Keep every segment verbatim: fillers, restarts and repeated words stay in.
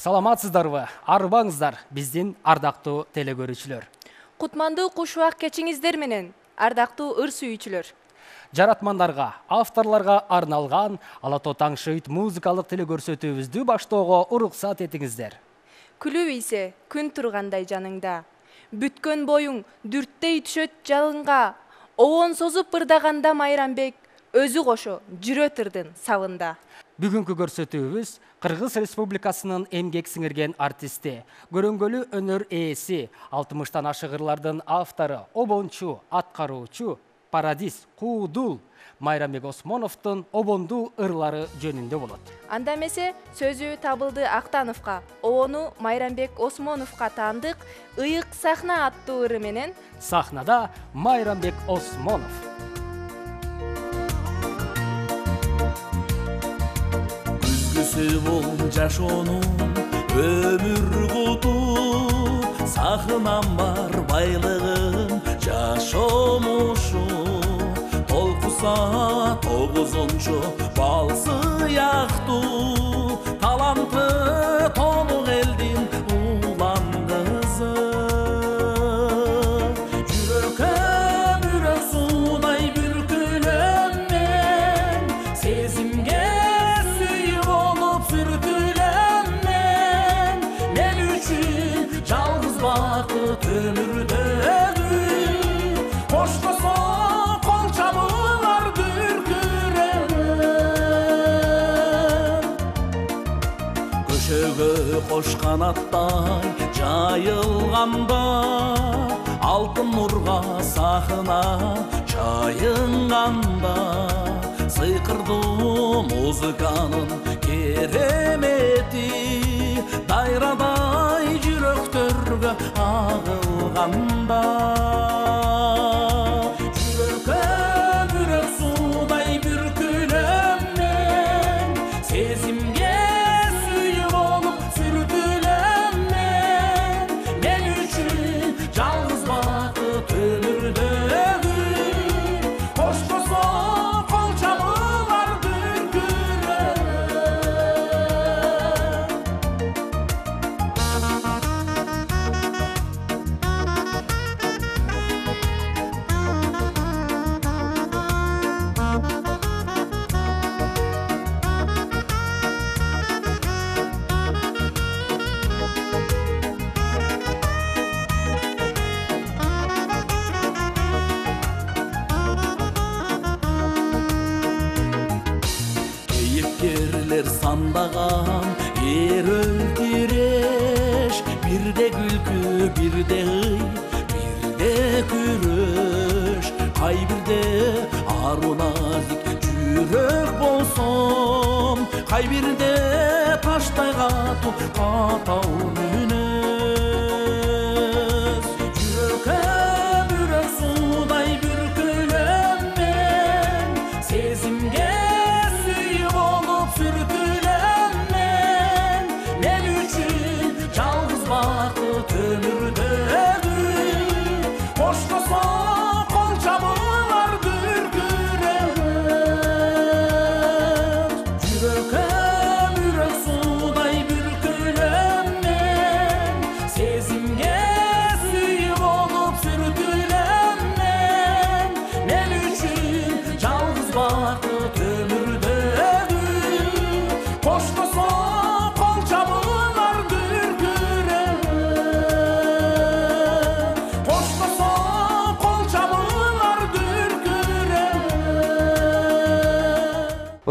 Саламатсыздарбы? Арбаңыздар биздин ардактуу телекөрүүчүлөр. Кутмандуу куш убак кечиңиздер менен, ардактуу ыр сүйүүчүлөр. Жаратмандарга, авторлорго арналган Ала тоо таң шыйт музыкалык телекөрсөтүүбүздү баштоого уруксат этиңиздер. Күлүп ийсе, күн тургандай жаныңда. Бүткөн боюң дүрттей түшөт жалынга. Обон созуп ырдаганда Майрамбек өзү кошо жүрөт ырдын сабында. Бүгүнкү көрсөтүүбүз Кыргыз Республикасынын эмгек сиңирген артисти, көрөңгөлүү өнөр ээси, алтымыштан ашык ырлардын автору, обончу, аткаруучу, парадис, куудул Майрамбек Осмоновдун обондуу ырлары жөнүндө болот. Анда эмесе сөзү Табылды Актановго, обону Майрамбек Осмоновго таандык Ыйык сахна аттуу ыры менен сахнада Майрамбек Осмонов. Бол жашоонун өмүр куту, сахынам бар байлыгым жашомушу, толкуса тогузунчу бал сыяктуу, таланты толук элдин улан кызы. Жүрөккө бүрөк суудай бүркүлөм мен, сезимге бакыт өмүрдөгү, коштосо кол чабуулар дүркүрөм. Көшөгө кош канаттай жайылганда, алтын нурга сахына чайынганда, сыйкырдуу музыканын керемети дайрадай жүрөктөргө агылганда. Жүрөккө бүрөк суудай бүркүлөм мен, сезимге сүйүү болуп сүртүлөм мен. Мен үчүн жалгыз бакыт өмүрдөгү, коштосо кол чабуулар дүркүрөм. Кейипкерлер сандаган эрөл тиреш, бирде күлкү, бирде ый, бирде күрөш. Кайбирде ару назик жүрөк болсом, кайбирде таштай катуу катау мүнөз. Жүрөккө бүрөк суудай бүркүлөм мен, сезимге сүртүлөм мен. Мен үчүн жалгыз бакыт өмүрдөгү, коштосо кол чабуулар дүркүрөм. Жүрөккө бүрөк суудай бүркүлөм мен, сезимге сүйүү болуп сүртүлөм мен. Мен үчүн жалгыз бакыт өмүрдөгү, коштосо кол чабуулар дүркүрөм. Коштосо кол чабуулар дүркүрөм.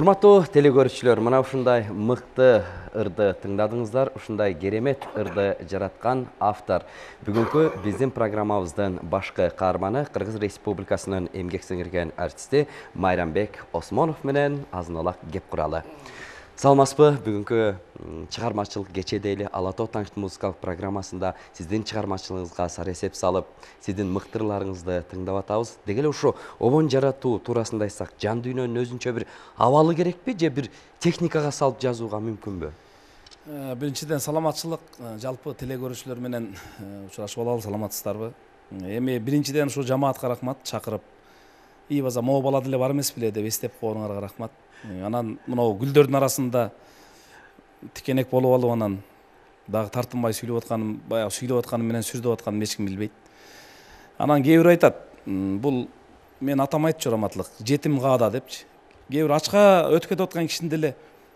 Урматтуу телекөрүүчүлөр, мына ушундай мыкты ырды тыңдадыңыздар. Ушундай керемет ырды жараткан автор бүгүнкү биздин программабыздын башкы каарманы, Кыргыз Республикасынын эмгек сиңирген артисти Майрамбек Осмонов менен азын алак кеп куралы. Саламатсызбы? Бүгүнкү чыгармачылык кечеде эле Ала тоо таң музыкалык программасында сиздин чыгармачылыгыңызга сар эсеп салып, сиздин мыктырларыңызды тыңдап атабыз. Деги эле ушу обон жаратуу туурасында айтсак, жан дүйнөнүн өзүнчө бир абалы керекпи же бир техникага салып жазууга мүмкүнбү? Биринчиден саламатчылык, жалпы телекөрүүчүлөр менен учурашып алалы, саламатсыздарбы? Эми биринчиден ушу жамаатка рахмат, чакырып ии база могу бала деле бар эмес беле деп эстеп койгонуңарга рахмат. Анан мынау гүлдөрдүн арасында тикенек болуп алып анан дагы тартынбай сүйлөп атканым, баягы сүйлөп атканым менен сүрдөп атканымды эч ким билбейт. Анан кээ бир айтат, бул мен атам айтчу раматлык, жетим каада депчи. Кээ бир ачка өтүп кетип аткан кишини деле,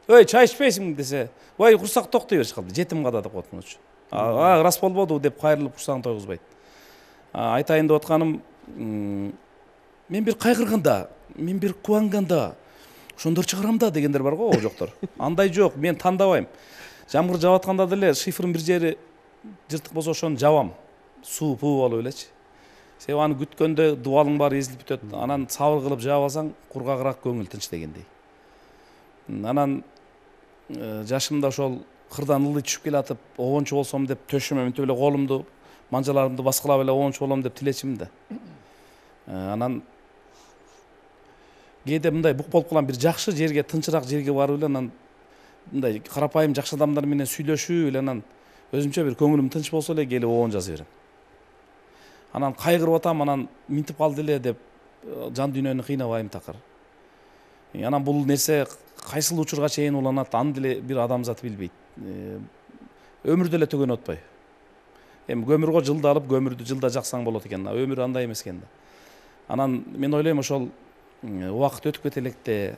"Ой, чай ичпейсиңби?" десе, "Ой, курсак токтой беришип калды, жетим каада" деп коет мунучу. А, рас болбоду деп кайрылып курсагын тойгузбайт. Айтайын деп атканым, мен бир кайгырганда, мен бир кубанганда ошондор чыгарам да дегендер бар го, жоктор. Андай жок, мен тандабайм. Жамгыр жаап атканда деле шифрдын бир жери жыртык болсо ошону жабам. Суу пуу болуп элечи. Себеби аны күткөндө дубалың баары эзилип бүтөт. Анан сабыр кылып жаап алсаң, кургагыраак көңүл тынч дегендей. Анан жашымда ошол кырдан ылдый түшүп келатып, обончу болсом деп төшүмө мынтип эле колумду, манжаларымды баскылап эле обончу болом деп тилечимин да. Анан кээде мындай бук болуп калган бир жакшы жерге, тынчыраак жерге барып эле анан мындай карапайым жакшы адамдар менен сүйлөшүп эле анан өзүмчө бир көңүлүм тынч болсо эле келип обон жаза берем. Анан кайгырып атам, анан минтип калды эле деп жан дүйнөнү кыйнабайм такыр. Анан бул нерсе кайсыл учурга чейин уланат, аны деле бир адамзат билбейт. Өмүр деле төгөнүп атпайбы? Эми көмүр го жылда алып, көмүрдү жылда жаксаң болот экен. Өмүр андай эмес экен да. Анан мен ойлойм, ошол убакыт өтүп кете электе,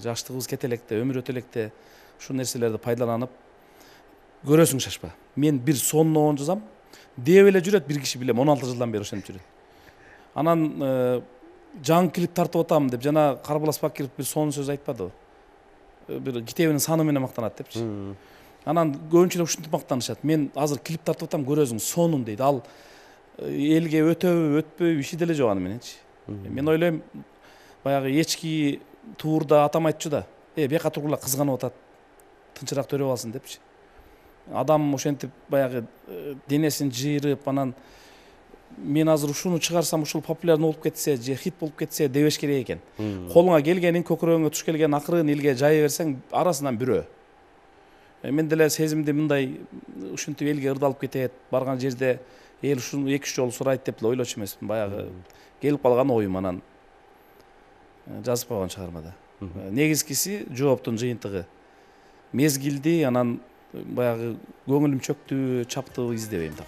жаштыгыбыз кете электе, өмүр өтө электе ушул нерселерди пайдаланып көрөсүң шашпа. Мен бир сонун обон жазам, деп эле жүрөт бир киши билем, он алты жылдан бери ошентип жүрөт. Анан жаңы клип тартып атам деп жана Карбалас Бакиров бир сонун сөз айтпадыбы? Бир китебинин саны менен мактанат депчи. Анан көбүнчө ушинтип мактанышат. Мен азыр клип тартып атам, көрөсүң, сонун дейт. Ал элге өтөбү, өтпөбү иши деле жок аны мененчи. Мен ойлойм, баягы эчки туурда атам айтчу да, "Э, бияка тургула кызганып атат, тынчыраак төрөп алсын" депчи. Адам ошентип баягы денесин жыйрып, анан мен азыр ушуну чыгарсам ушул популярный болуп кетсе, же хит болуп кетсе дебеш керек экен. Колуңа келгенин, көкүрөгүңө туш келген акырын элге жая берсең, арасынан бирөө. Мен деле сезимди мындай ушинтип элге ырдалып кетет, барган жерде эл ушуну эки үч жолу сурайт деп эле ойлочу эмесмин. Баягы келип калган оюм, анан жазып койгон чыгармада. Негизгиси жооптун жыйынтыгы. Мезгилди, анан баягы көңүлүм чөктү, чаптыбы издебейм да.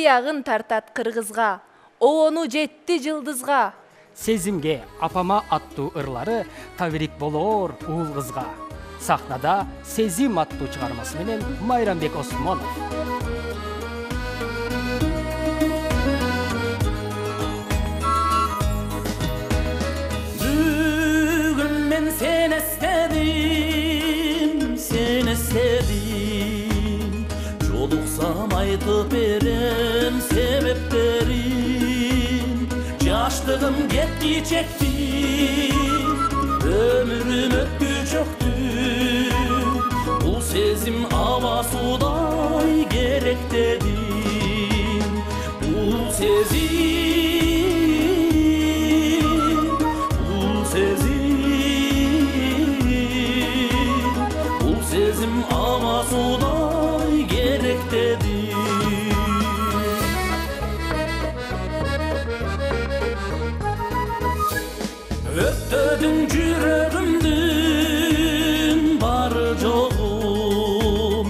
кыягын тартат кыргызга, обону жетти жылдызга. Сезимге апама аттуу ырлары табирик болоор уул кызга. Сахнада Сезим аттуу чыгармасы менен Майрамбек Осмонов. Бүгүн мен сени эстедим, сени эстедим. Жолуксам айтып берем себептерин. Жаштыгым кетти чекти, өмүрүм өттү чөктү. Бул сезим аба судай керек дедим. Бул сезим, бул сезим, бул сезим аба судай керек дедим. Өттөдүң жүрөгүмдүн бары жогум,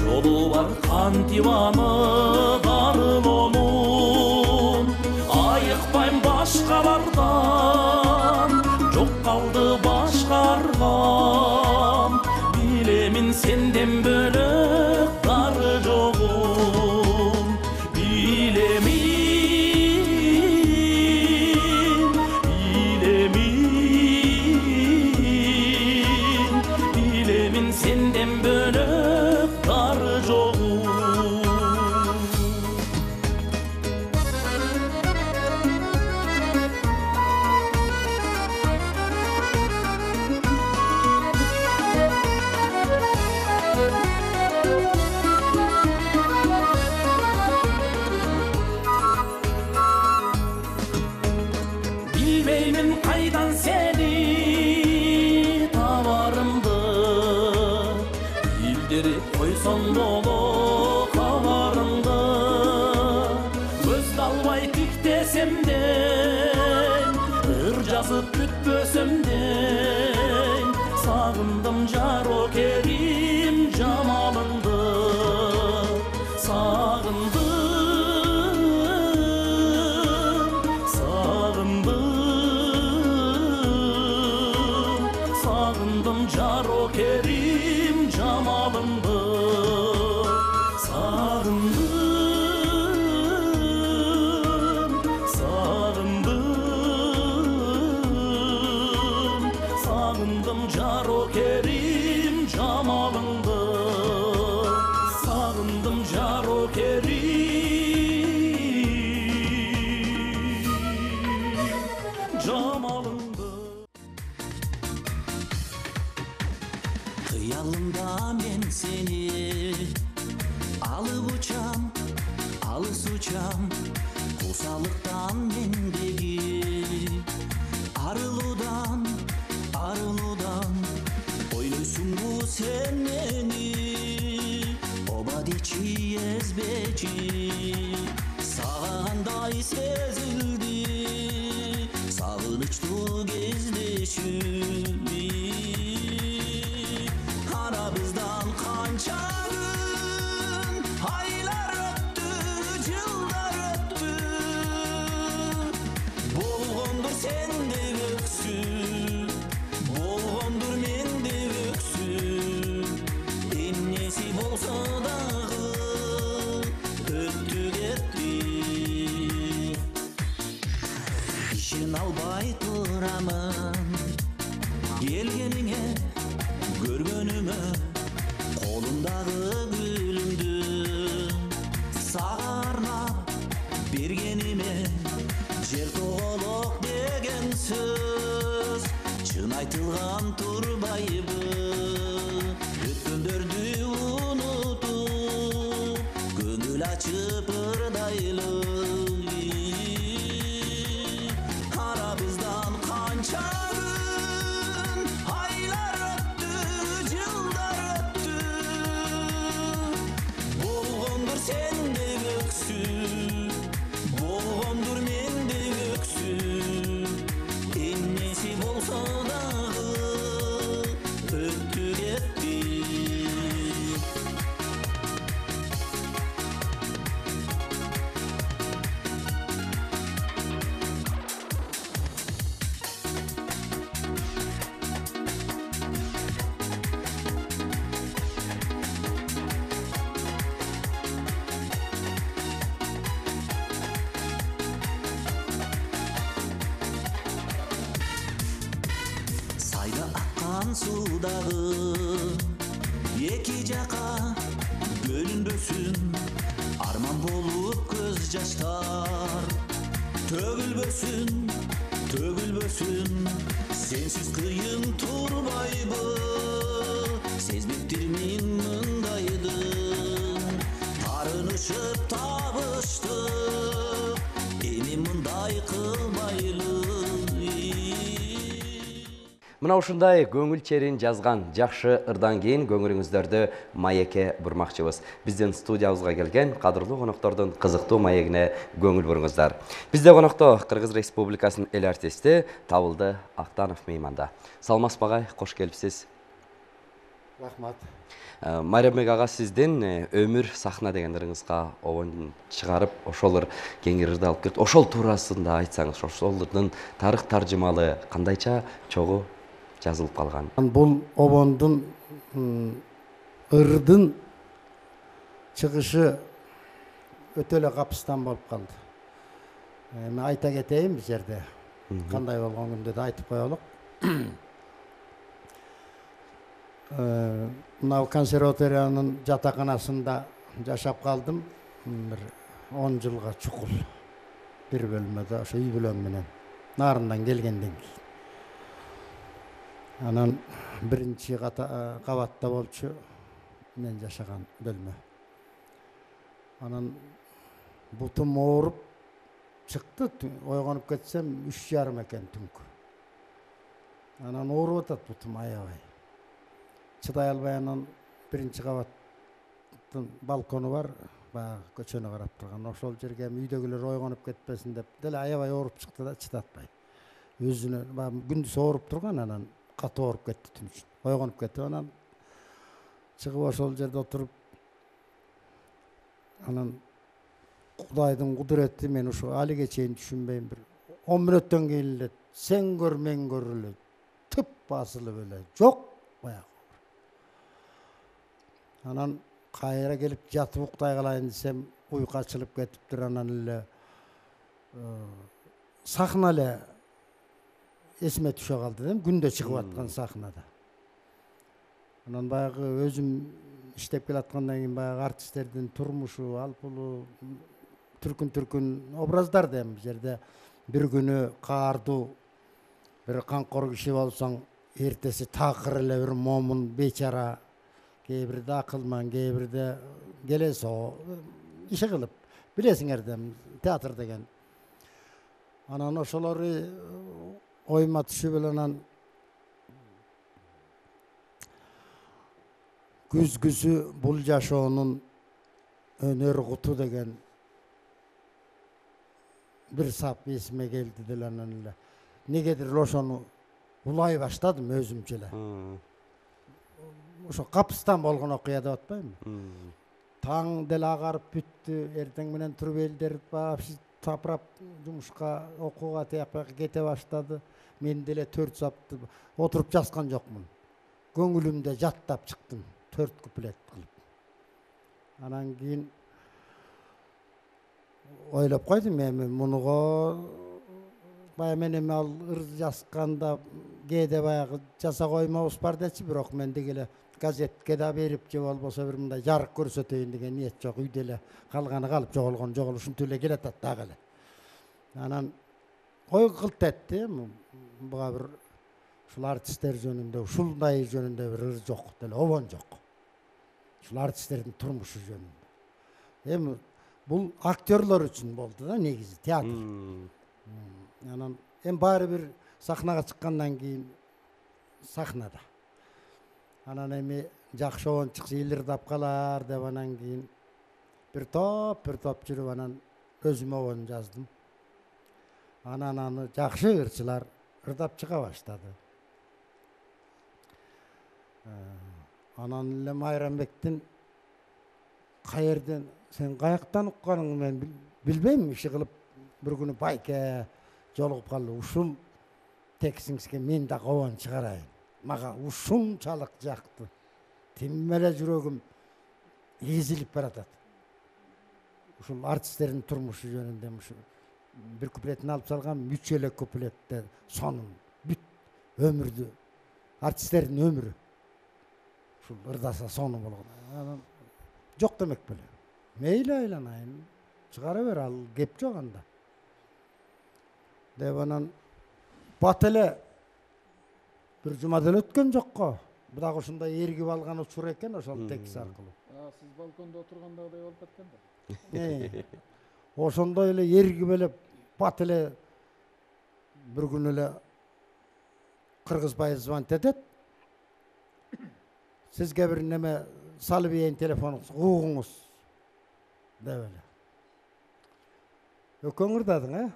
жолу бар кантип анык арылоомун. Айыкпайм башкалардан, жок калды башка аргам. Билемин сенден бөлөк дары жогум, билемин. Senden bölüp darı joğum. Bilmeymin kaydan seni tavarımdı. Koyson dolu kavarımda, göz dalbay tik desemden, ır жазып бүтпөсөмden. Sağındım jaro kerim jamalındı, sağındım, sağındım, sağındım jaro kerim jamalındı. Sağındım, sağındım, sağındım jaro kerim jamalındı. Sağındım jaro kerim jamalındı. Kıyalımda men seni alıp uçam, alыс uçam. Kusalıktan mendeki arılıdan, arılıdan. Oylusun bu sen meni, obadiçi ezbeci. Sağanday sezildi, sağınıçlı gezdeşim. Aramızdan kança gün, aylar öttü, yıllar öttü. Bolğondur sende öksün, bolğondur mende öksün. Ennesi bolsa dağı, öttü ketti. İşin albay turamın, gelgenine, görgönüme. Kolumdağı gülümdü, sağarna bergenime. Жер тоголок деген сөз, чын айтылган турбайбы. Өткөндөрдү унутуп, көңүл ачып ырдайлы. Арабыздан канча күн, айлар өттү, жылдар өттү. Болгондур сенде өксүн, болгондур менде өксүн. Эмнеси болсо дагы сан суудагы эки жака бөлүнбөсүн арман болуп көз жаштар төгүлбөсүн төгүлбөсүн сенсиз кыйын турбайбы сезбептирмин мындайды тарынышып табыштык эми мындай кылбайлы. Мына ушундай көңүл черин жазган жакшы ырдан кийин көңүлүңүздөрдү маекке бурмакчыбыз. Биздин студиябызга келген кадырлуу коноктордун кызыктуу маегине көңүл буруңуздар. Бизде конокто Кыргыз Республикасынын эл артисти Табылды Актанов мейманда. Саламатсыз багай, кош келипсиз. Рахмат. Майрамбек ага, сиздин өмүр сахна деген ырыңызга обон чыгарып, ошолор кеңири ырды алып келди. Ошол туурасында айтсаңыз, ошолордун тарых таржымалы кандайча чогуу жазылып калган? Бул обондун ырдын чыгышы өтө эле капыстан болуп калды. Эми айта кетейин бул жерде. Кандай болгон күндө да айтып коелук. Мына консерваториянын жатаканасында жашап калдым. Бир он жылга чукул. Бир бөлмөдө ошо үй бүлөм менен нарындан келгенден кийин. Анан биринчи кабатта болчу мен жашаган бөлмө. Анан бутум ооруп чыкты, ойгонуп кетсем үч жарым экен түнкү. Анан ооруп атат бутум аябай. Чыдай албай анан биринчи кабаттын балкону бар, баягы көчөнү карап турган. Ошол жерге үйдөгүлөр ойгонуп кетпесин деп деле аябай ооруп чыкты да чыдатпай. Өзүнө күндүз ооруп турган, анан катуу ооруп кетти түн үчүн. Ойгонуп кетти, анан чыгып ошол жерде отуруп анан Кудайдын кудурети мен ушу алиге чейин түшүнбөйм, бир он мүнөттөн кийин эле сен көр мен көр эле тып басылып эле жок баягы. Анан кайра келип жатып уктай калайын десем уйку ачылып кетиптир. Анан эле сахна эле эсиме түшө калды да, күндө чыгып аткан сахнада. Анан баягы өзүм иштеп келаткандан кийин баягы артисттердин турмушу, алпулу түркүн-түркүн образдар да эми жерде бир күнү каардуу бир камкор киши болсоң, эртеси такыр эле бир момун бечара, кээ бирде акылман, кээ бирде келесоо иши кылып, билесиңер да театр деген. Анан ошолору ойма түшүп эле анан күзгүсү бул жашоонун өнөр куту деген бир сап эсиме келди деле. Анан эле негедир ошону улай баштадым өзүмчө эле. Ошо капыстан болгон окуя деп атпайбы? Таң деле агарып бүттү, эртең менен туруп элдер тапырап жумушка, окууга тияпка кете баштады. Мен деле төрт сапты отуруп жазган жокмун. Көңүлүмдө жаттап чыктым, төрт куплет кылып. Анан кийин ойлоп койдум, эми мунуга баягы мен эми ал ыр жазганда кээде баягы жаса коймобуз бар дечи, бирок мен деги эле газетке да берип, же болбосо бир мындай жарык көрсөтөйүн деген ниет жок. Үйдө эле калганы калып, жоголгон жогол, ушинтип эле келатат дагы эле. Анан ой кылт этти, буга бир ушул артисттер жөнүндө, ушундай жөнүндө бир ыр жок деле, обон жок. Ушул артисттердин турмушу жөнүндө. Эми бул актерлор үчүн болду да негизи, театр. Анан эми баары бир сахнага чыккандан кийин сахнада. Анан эми жакшы обон чыкса эл ырдап калар деп анан кийин бир топ, бир топ жүрүп анан өзүм обон жаздым. Анан аны жакшы ырчылар ырдап чыга баштады. Анан эле Майрамбектин каерден сен каяктан укканыңды мен билбейм, иши кылып бир күнү байке жолугуп калды. Ушул текстиңизге мен да обон чыгарайын. Мага ушунчалык жакты. Тим эле жүрөгүм эзилип баратат. Ушул артисттердин турмушу жөнүндө ушу бир куплетин алып салгам, үч эле куплетте сонун бүт өмүрдү артисттердин өмүрү. Ушул ырдаса сону болгон. Жок демек беле. Мейли айланайын, чыгара бер, ал кеп жок анда. Деп анан бат эле бир жума деле өткөн жокко. Бу дагы ушундай эргип алган учур экен ошол текст аркылуу. Сиз балкондо отургандагыдай болуп кеткен да. Ошондой эле эргип эле бат эле бир күн эле Кыргызбай звонить этет. Сизге бир неме салып ийин телефонуңуз, угуңуз деп эле. Өкөң ырдадың, э?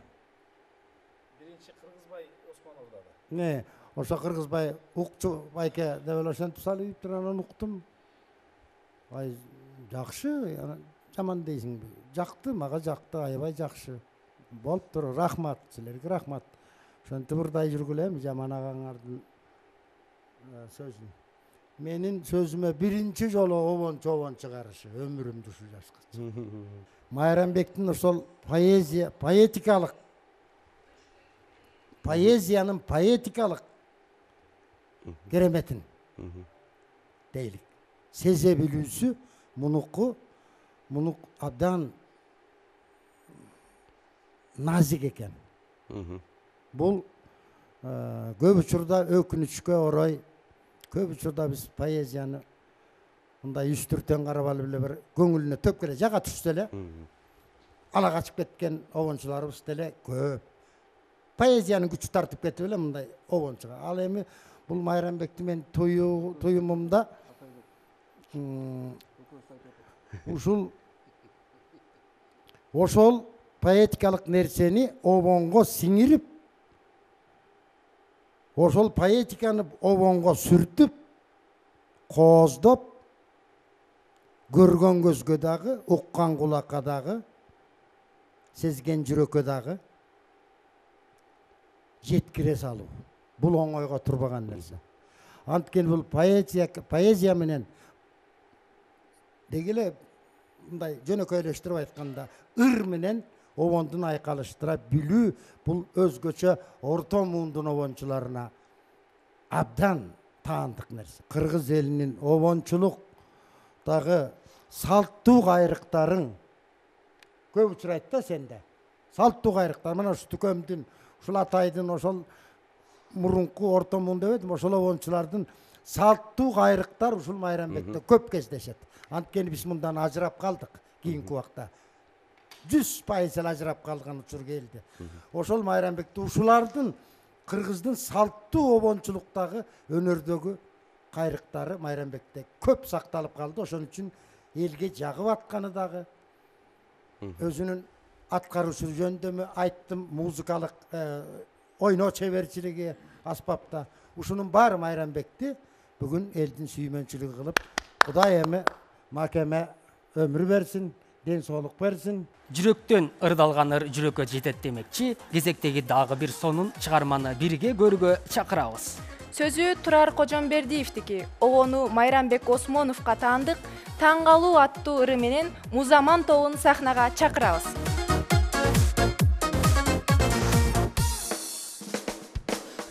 Биринчи Кыргызбай Осмонов ырдады. Не, ошо Кыргызбай укчу байке деп эле ошентип салып анан уктум. Ай, жакшы, жаман дейсиңби? Жакты, мага жакты, аябай жакшы. Болуптур, рахмат, силерге рахмат. Ошентип ырдай жүргүлө эми Жаман агаңардын сөзүн. Менин сөзүмө биринчи жолу обон-чобон чыгарышы өмүрүмдү ушул жашка. Майрамбектин ошол поэзия, поэтикалык, поэзиянын поэтикалык кереметин дейлик. Сезе билүүсү мунуку, мунук абдан назик экен. Бул көп учурда өкүнүчкө орой, көп учурда биз поэзияны мындай үстүртөн карап алып эле бир көңүлүнө төп келе жага түшсө эле ала качып кеткен обончуларыбыз деле көп. Поэзиянын күчү тартып кетип эле мындай обончуга. Ал эми бул Майрамбекти мен туюмумда ушул ошол поэтикалык нерсени обонго сиңирип, ошол поэтиканы обонго сүртүп, кооздоп, көргөн көзгө дагы, уккан кулакка дагы, сезген жүрөккө дагы жеткире салуу. Бул оңойго турбаган нерсе. Анткени бул поэзия, поэзия менен дегеле мындай жөнөкөйлөштүрүп айтканда ыр менен обондун айкалыштыра билүү бул өзгөчө орто муундун обончуларына абдан таандык нерсе. Кыргыз элинин обончулуктагы салттуу кайрыктарын көп учурайт да сенде. Салттуу кайрыктар мына ушу Түкөмдүн, ушул Атайдын, ошол мурунку орто муун деп эдим, ошол обончулардын салттуу кайрыктар ушул Майрамбекте көп кездешет. Анткени биз мындан ажырап калдык кийинки убакта. жүз пайыз ажырап калган учур келди. Ошол Майрамбекте ушулардын Кыргыздын салттуу обончулуктагы өнөрдөгү кайрыктары Майрамбекте көп сакталып калды. Ошон үчүн элге жагып атканы дагы өзүнүн аткаруучу жөндөмү айттым, музыкалык ойноо чеберчилиги аспапта. Ушунун баары Майрамбекти бүгүн элдин сүймөнчүлүгү кылып, Кудай эми макеме өмүр берсин, ден соолук берсин. Жүрөктөн ырдалган ыр жүрөккө жетет демекчи, кезектеги дагы бир сонун чыгарманы бирге көрүүгө чакырабыз. Сөзү Турар Кожомбердиевдики. Обону Майрамбек Осмоновго таандык Таң калуу аттуу ыры менен Музаман тобун сахнага чакырабыз.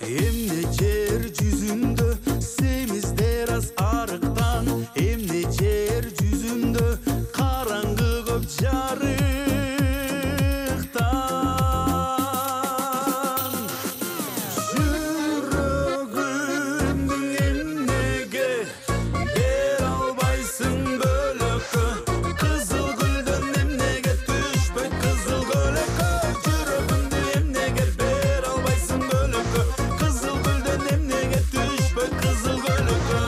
Эмне жер жүзүндө семиздер аз арыктан, эмне жер жүзүндө караңгы көп жарыктан. Жүрөгүмдүн эмнеге бер албайсың бөлөккө, кызыл гүлдөн эмнеге түшпөйт кызыл көлөккө. Жүрөгүмдү эмнеге бер албайсың бөлөккө, кызыл гүлдөн эмнеге түшпөйт кызыл көлөккө.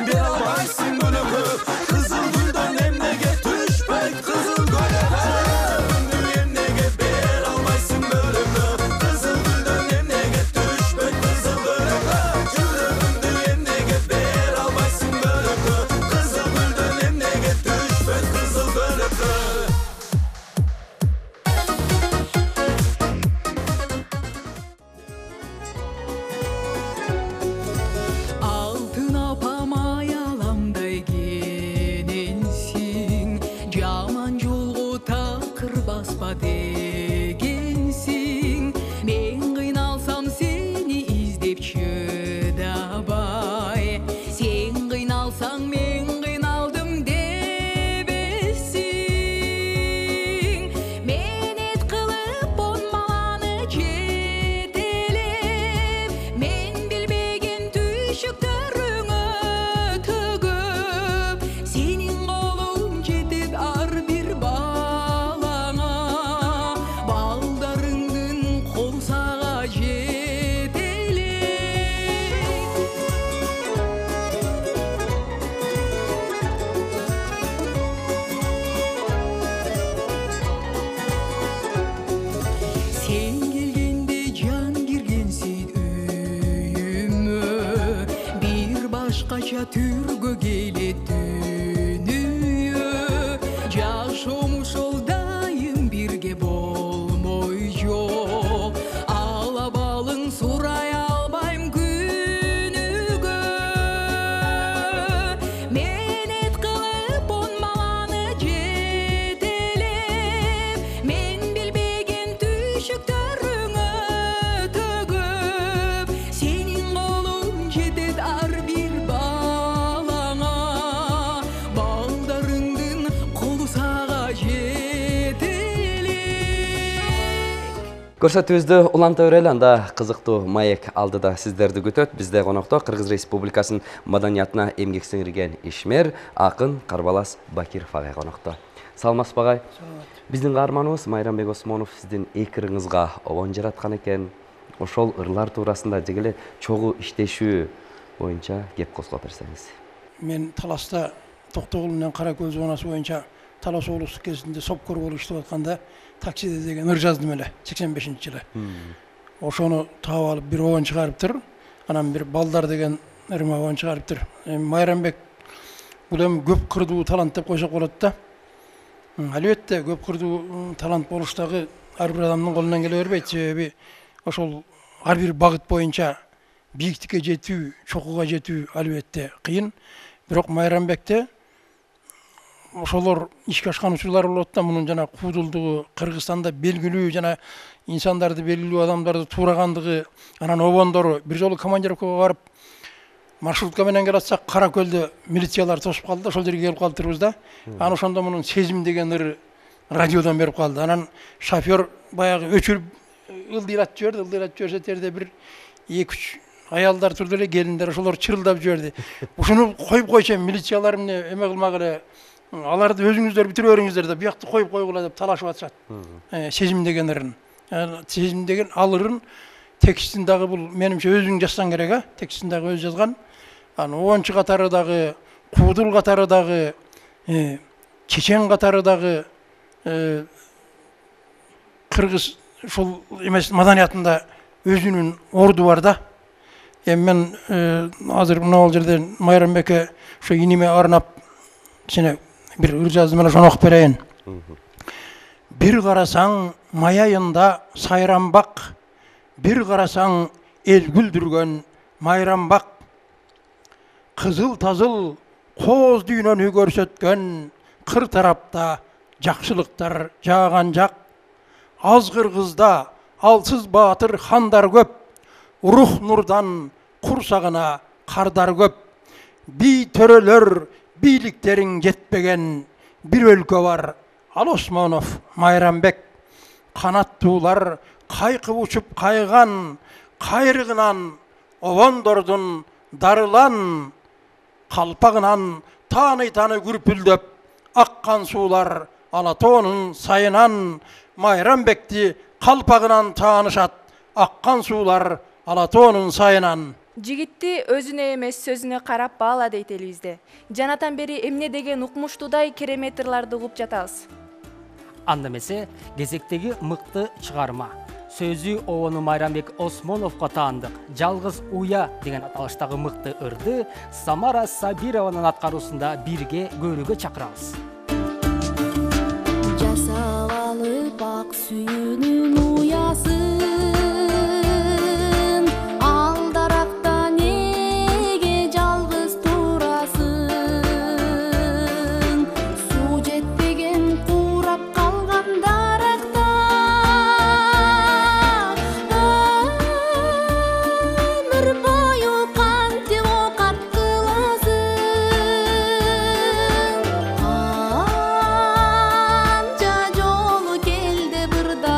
бере албайсың бөлөккө кызыл гүлдөн эмнеге түшпөйт кызыл көлөккө эмнеге бере албайсың бөлөккө кызыл гүлдөн эмнеге түшпөйт кызыл көлөккө жүрөгүмдү эмнеге бере албайсың бөлөккө кызыл гүлдөн эмнеге түшпөйт кызыл көлөккө Алтын апам аяламдай кененсиң, жаман жолго такыр баспа дегенсиң. Мен кыйналсам сени издеп чыдабай, сен кыйналсаң мен кыйналдым дебесиң. Менет кылып он баланы жетелеп, мен билбеген түйшүктөрүңө төгүп, сенин колуң жетет ар бир балаңа, балдарыңдын кол сага жетелек. Сен келгенде жан киргенсиң үйүмө, бир башкача түргө келет дүнүйө. Жашоом ошол дайым бирге болмой жок, ала балың сурай албайм күнүгө. Менет кылып он баланы жетелеп, мен билбеген түйшүктөрүңө төгүп, сенин колуң жетет ар бир балаңа, балдарыңдын колу сага жетелек. Көрсөтүүбүздү уланта берели, анда кызыктуу маек алдыда сиздерди күтөт. Бизде конокто Кыргыз Республикасынын маданиятына эмгек сиңирген ишмер акын Карбалас Бакиров агай конокто. Саламатсызбы агай? Биздин каарманыбыз Майрамбек Осмонов сиздин эки ырыңызга обон жараткан экен. Ошол ырлар туурасында же эле чогуу иштешүү боюнча кеп козгоп берсеңиз. Мен Таласта Токтогул менен Каракөл зонасы боюнча Талас облустук кезинде сопкор болуп иштеп атканда таксиде деген ыр жаздым эле сексен бешинчи жылы. Ошону таап алып бир обон чыгарыптыр. Анан бир балдар деген ырма обон чыгарыптыр. Эми Майрамбек бул эми көп кырдуу талант деп койсок болот да. Албетте көп кырдуу талант болуш дагы ар бир адамдын колунан келе бербейт. Себеби ошол ар бир багыт боюнча бийиктикке жетүү, чокуга жетүү албетте кыйын. Бирок Майрамбекте ошолор ишке ашкан учурлар болот да. Мунун жана куудулдугу Кыргызстанда белгилүү жана инсандарды, белгилүү адамдарды туурагандыгы, анан обондору бир жолу командировкага барып маршрутка менен келатсак Каракөлдө милициялар тосуп калды да, ошол жерге келип калыптырбыз да. Анан ошондо мунун сезим деген ыры радиодон берип калды. Анан шофер баягы өчүрүп ылдыйратып жиберди, ылдыйратып жиберсе терде бир эки үч аялдар турду эле, келиндер, ошолор чырылдап жиберди. Ушуну коюп койчу, милициялар эмне эме кылмагыла, аларды өзүңүздөр бүтүрүп бериңиздер деп биякты коюп койгула деп талашып атышат. Сезим деген ырын. Сезим деген ал ырын текстин дагы бул менимче өзүң жазсаң керек, а? Текстин дагы өзү жазган. Анан обончу катары дагы, куудул катары дагы, чечен катары дагы кыргыз ушул эмес маданиятында өзүнүн орду бар да. Эми мен азыр мына жерде Майрамбекке ошо иниме арнап кичине бир ыр жаздым, эле ошону окуп берейин. Бир карасаң маяйында сайрамбак, бир карасаң эл күлдүргөн майрамбак, кызыл тазыл кооз дүйнөнү көрсөткөн кыр тарапта жакшылыктар жааган жак. Аз кыргызда алсыз баатыр хандар көп, рух нурдан курсагына кардар көп. Би төрөлөр бийликтериң жетпеген бир өлкө бар, ал Осмонов Майрамбек. Канаттуулар кайкып учуп кайган, кайрыгынан обондордун дарылан, калпагынан тааны-тааны күрпүлдөп аккан суулар Алатоонун сайынан. Майрамбекти калпагынан таанышат, аккан суулар Алатоонун сайынан. Жигитти өзүнө эмес сөзүнө карап баала дейт элибизде. Жанатан бери эмне деген укмуштуудай керемет ырларды угуп жатабыз. Анда эмесе кезектеги мыкты чыгарма. Сөзү Обону Майрамбек Осмоновго таандык «Жалгыз уя» деген аталыштагы мыкты ырды Самара Сабированын аткаруусунда бирге көрүүгө чакырабыз. Жасап алып ак сүйүүнүн уясын, алдаракта неге жалгыз турасың? Суу жетпеген курап калган даракта өмүр бою кантип окат кыласың? Канча жолу келди бырда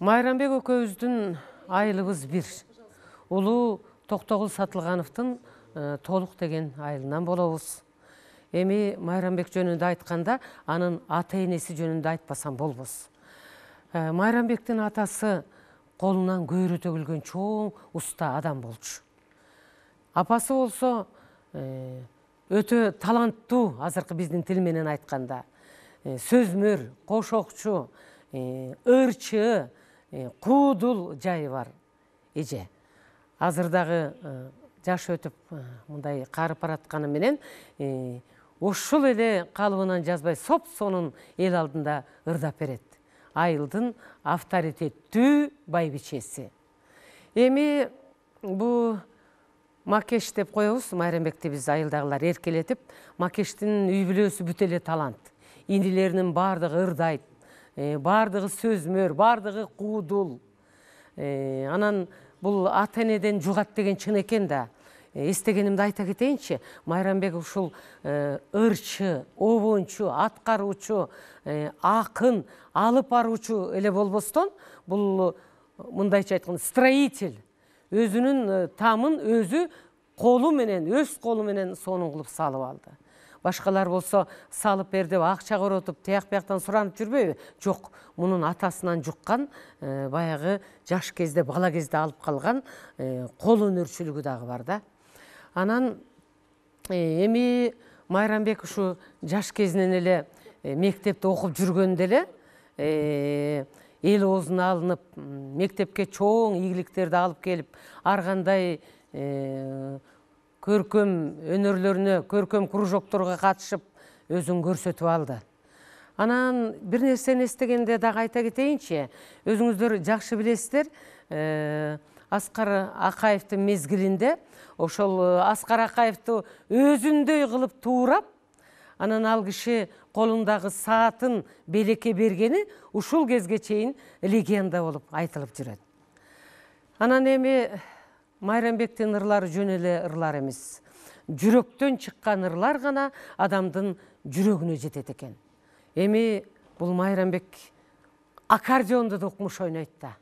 Майрамбек экөөбүздүн айылыбыз бир. Улуу Токтогул Сатылгановдун толук деген айылынан болобуз. Эми Майрамбек жөнүндө айтканда, анын ата энеси жөнүндө айтпасам болбос. Майрамбектин атасы колунан көйрө төгүлгөн чоң уста адам болчу. Апасы болсо өтө таланттуу, азыркы биздин тил менен айтканда, сөзмөр, кошокчу, ырчы, куудул жайы бар эже. Азыр дагы жаш өтүп мындай карып баратканы менен ушул эле калыбынан жазбай соп-сонун эл алдында ырдап берет. Айылдын авторитеттүү байбичеси. Эми бу Макеш деп коебуз. Майрамбекти биз айылдагылар эркелетип, Макештин үй бүлөсү бүт эле талант. Инилеринин бардыгы ырдайт, бардыгы сөзмөр, бардыгы куудул. Анан бул ата энеден жугат деген чын экен да. Эстегенимди айта кетейинчи, Майрамбек ушул ырчы, обончу, аткаруучу, акын, алып баруучу эле болбостон, бул мындайча айтканда строитель. Өзүнүн тамын өзү колу менен, өз колу менен сонун кылып салып алды. Башкалар болсо салып бер деп акча коротуп, тияк бияктан суранып жүрбөйбү? Жок, мунун атасынан жуккан, баягы жаш кезде, бала кезде алып калган кол өнөрчүлүгү дагы бар да. Анан эми Майрамбек ушу жаш кезинен эле мектепте окуп жүргөндө эле эл оозуна алынып, мектепке чоң ийгиликтерди алып келип, ар кандай көркөм өнөрлөрүнө, көркөм кружокторго катышып, өзүн көрсөтүп алды. Анан бир нерсени эстегенде дагы айта кетейинчи, өзүңүздөр жакшы билесиздер, Аскар Акаевдин мезгилинде ошол Аскар Акаевди өзүндөй кылып туурап, анан ал киши колундагы саатын белекке бергени ушул кезге чейин легенда болуп айтылып жүрөт. Анан эми Майрамбектин ырлары жөн эле ырлар эмес. Жүрөктөн чыккан ырлар гана адамдын жүрөгүнө жетет экен. Эми бул Майрамбек аккордеондо да укмуш ойнойт да.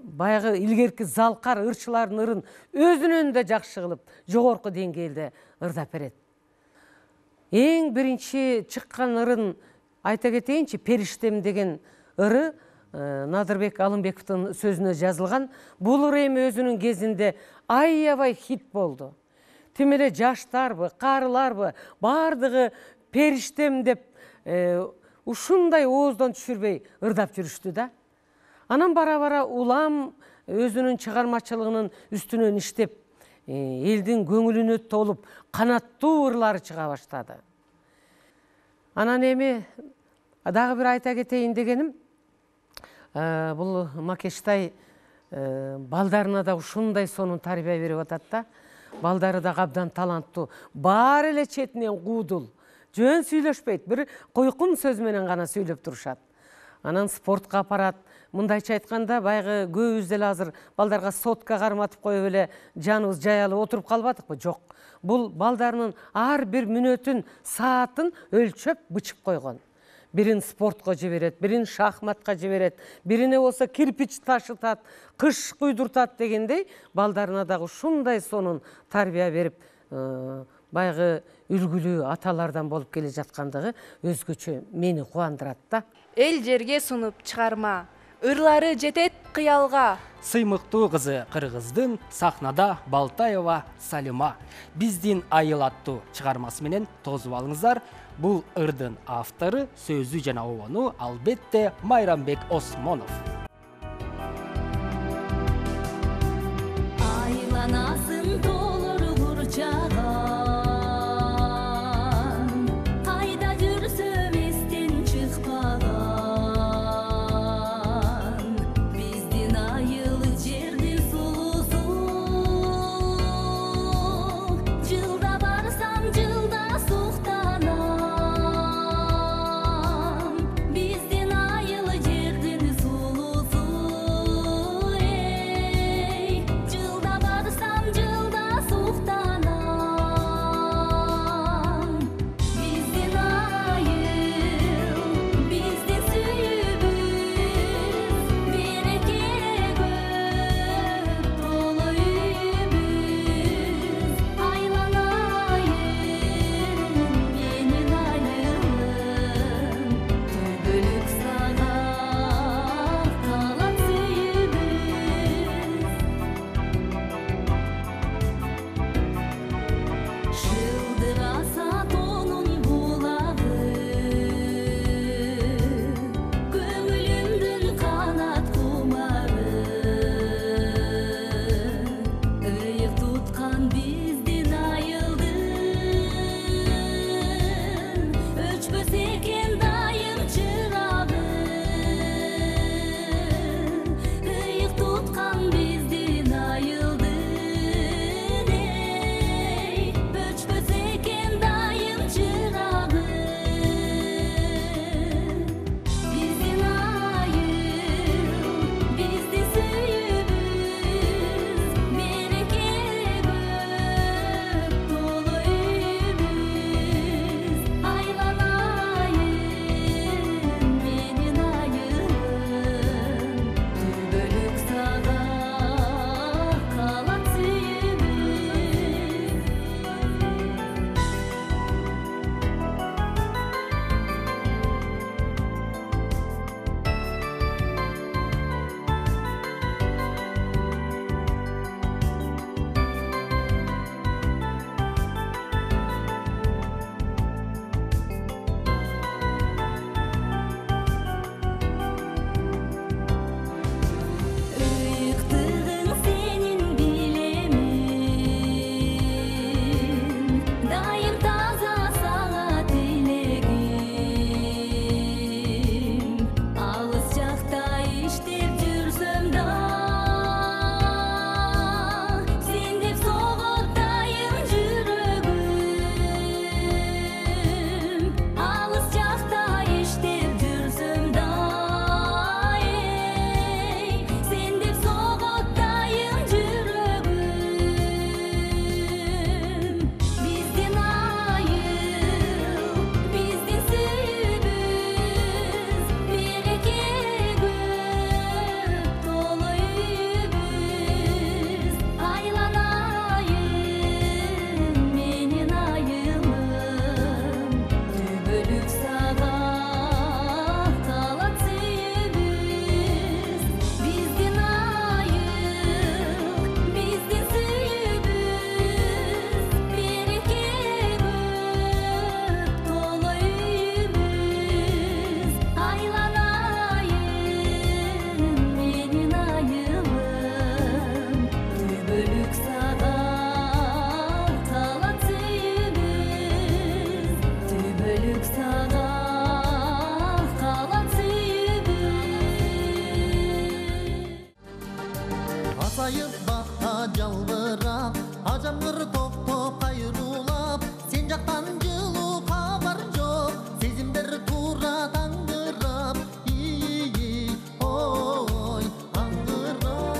Баягы илгерки залкар ырчылардын ырын өзүнөн да жакшы кылып, жогорку деңгээлде ырдап берет. Эң биринчи чыккан ырын айта кетейинчи, Периштем деген ыры Надырбек Алымбековдун сөзүнө жазылган. Бул ыр эми өзүнүн кезинде аябай хит болду. Тим эле жаштарбы, карыларбы, бардыгы Периштем деп ушундай ооздон түшүрбөй ырдап жүрүштү да. Анан бара-бара улам өзүнүн чыгармачылыгынын үстүнөн иштеп, элдин көңүлүнө толуп, канаттуу ырлары чыга баштады. Анан эми дагы бир айта кетейин дегеним, бул Макештай балдарына да ушундай сонун тарбия берип атат да. Балдары да абдан таланттуу, баары эле четинен куудул, жөн сүйлөшпөйт, бир койкум сөз менен гана сүйлөп турушат. Анан спортко апарат. Мындайча айтканда, байгы көбүбүз деле азыр балдарга сотка карматып коюп эле жаныбыз жаялып отуруп калбадыкпы? Жок. Бул балдарынын ар бир мүнөтүн, саатын өлчөп бычып койгон. Бирин спортко жиберет, бирин шахматка жиберет, бирине болсо кирпич ташытат, кыш куйдуртат дегендей, балдарына дагы ушундай сонун тарбия берип, байгы үлгүлүү аталардан болуп келе жаткандыгы өзгөчө мени кубандырат да. Эл жерге сунуп чыгарма, ырлары жетет кыялга. Сыймыктуу кызы кыргыздын сахнада Балтаева Салима биздин айыл аттуу чыгармасы менен тосуп алыңыздар. Бул ырдын автору, сөзү жана обону албетте Майрамбек Осмонов. Айланасың толор курчаган, кайда жүрсөм эстен чыкпаган. Биздин айыл жердин сулусу, жылда барсам жылда суктанам. Биздин айыл жердин сулусу. айып бакта жалбырап ажамгыр токтоп кайрулап сен жактан жылуу кабар жок сезимдер туура таңдырап ии ой аңдырап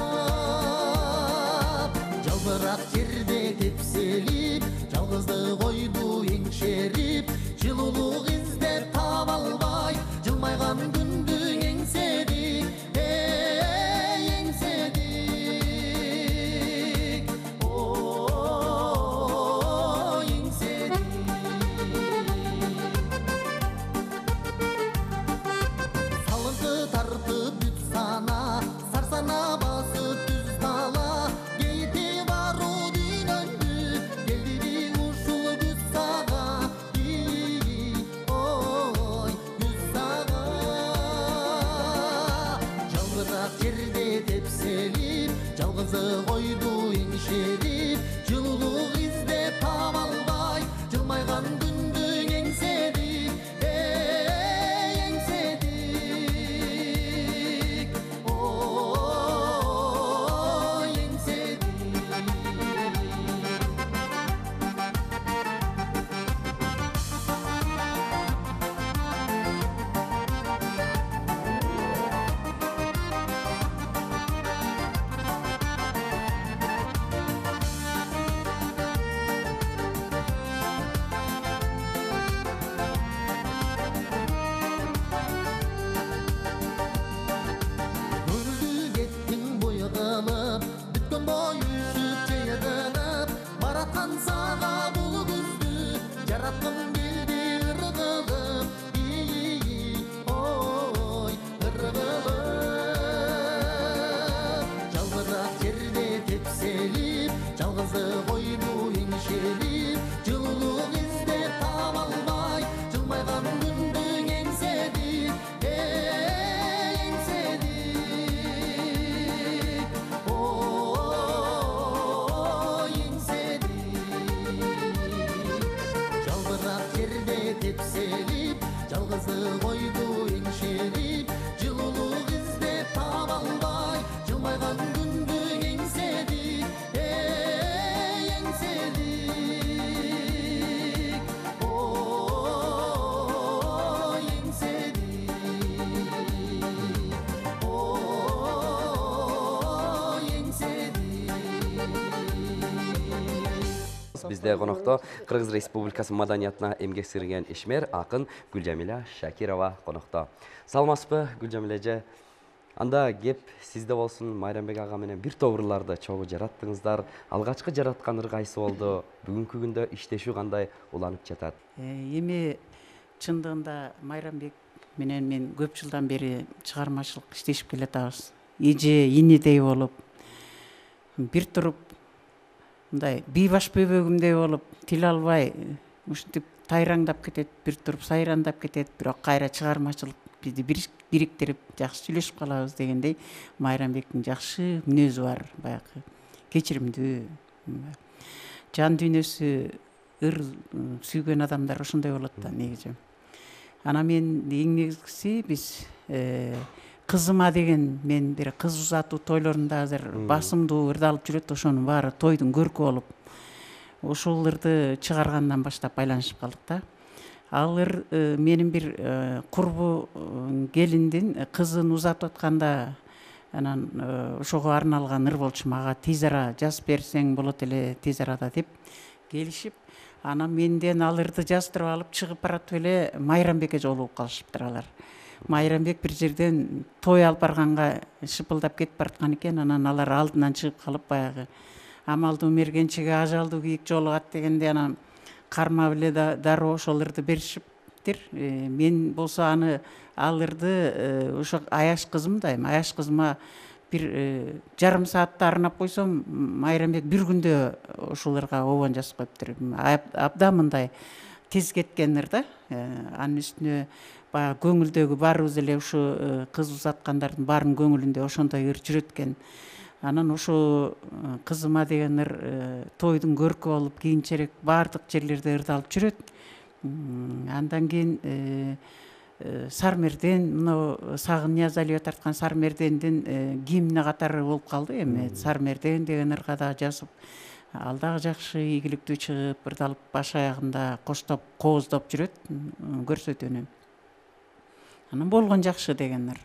жалбырак жерде тепселип жалгыздык ойду эңшерип жылуулук издеп таба албай жылмайган күндү эңседик эй эңседик ой эңседик салыңкы тартып бүт сана сарсана басып түз тала кейти баруу дүйнөңдү келдиби ушул күз сага ии ой күз сага жалбырак жерде тепселип жалгыздык ойду эңшерип жылуулук издеп таба албай жылмайган күндү эңседик эй эңседик ой эңседик Көңүлдү кеттиң бой кылып бүткөн бой үсүп жыйылып бараткан сага бул күздү жараткым келди ыргылып ии ой ыргылып жалбырак жерде тепселип жалгыздык ойду эңшерип жылуулук издеп таба албай жылмайган күндү эңседик эй эңседик ой эңседик жалбырак жерде тепселип жалгыздык ойду эңшерип жылуулук издеп таба албай жылмайган күндү эңседик эй эңседик ой эңседик ой эңседик Бизде конокто Кыргыз Республикасы маданиятына эмгек сиңирген ишмер акын Гүлжамиля Шакирова конокто. Саламатсызбы, Гүлжамиля эже? Анда кеп сизде болсун, Майрамбек ага менен бир топ ырларды чогуу жараттыңыздар. Алгачкы жараткан ыр кайсы болду? Бүгүнкү күндө иштешүү кандай уланып жатат? Эми чындыгында Майрамбек менен мен көп жылдан бери чыгармачылык иштешип келатабыз. Эже инидей болуп, бир туруп мындай бийбаш бөбөгүмдөй болуп, тил албай ушинтип тайраңдап кетет, бир туруп сайрандап кетет, бирок кайра чыгармачылык бизди бириктирип жакшы сүйлөшүп калабыз дегендей Майрамбектин жакшы мүнөзү бар, баягы кечиримдүү. Жан дүйнөсү ыр сүйгөн адамдар ошондой болот да негизи. Анан мен эң негизгиси биз кызыма деген мен бир кыз узатуу тойлорунда азыр басымдуу ырдалып жүрөт, ошонун баары тойдун көркү болуп ошол ырды чыгаргандан баштап байланышып калдык да. Ал ыр менин бир курбу келиндин кызын узатып атканда анан ошого арналган ыр болчу, мага тез ара жазып берсең болот эле тез арада деп келишип, анан менден ал ырды жаздырып алып чыгып баратып эле Майрамбекке жолугуп калышыптыр алар. Майрамбек бир жерден той алып барганга шыпылдап кетип бараткан экен, анан алар алдынан чыгып калып баягы амалдуу мергенчиге ажалдуу кийик жолугат дегенде анан кармап эле дароо ошол ырды беришиптир. Мен болсо аны ал ырды ошо Аяш кызымда, эми Аяш кызыма бир жарым саатта арнап койсом, Майрамбек бир күндө ошол ырга обон жазып коюптур. Абдан мындай тез кеткен ыр да. Анын үстүнө баягы көңүлдөгү баарыбыз эле ушу кыз узаткандардын баарынын көңүлүндө ошондой ыр жүрөт экен. Анан ошо кызыма деген ыр тойдун көркү болуп, кийинчерээк баардык жерлерде ырдалып жүрөт. Андан кийин Сармерден, мына Сагын Ниязалиева тарткан Сармердендин гимни катары болуп калды. Эми Сармерден деген ырга да жазып, ал дагы жакшы ийгиликтүү чыгып, ырдалып баш аягында коштоп, кооздоп жүрөт, көрсөтөнү. Анан болгон жакшы деген ыр.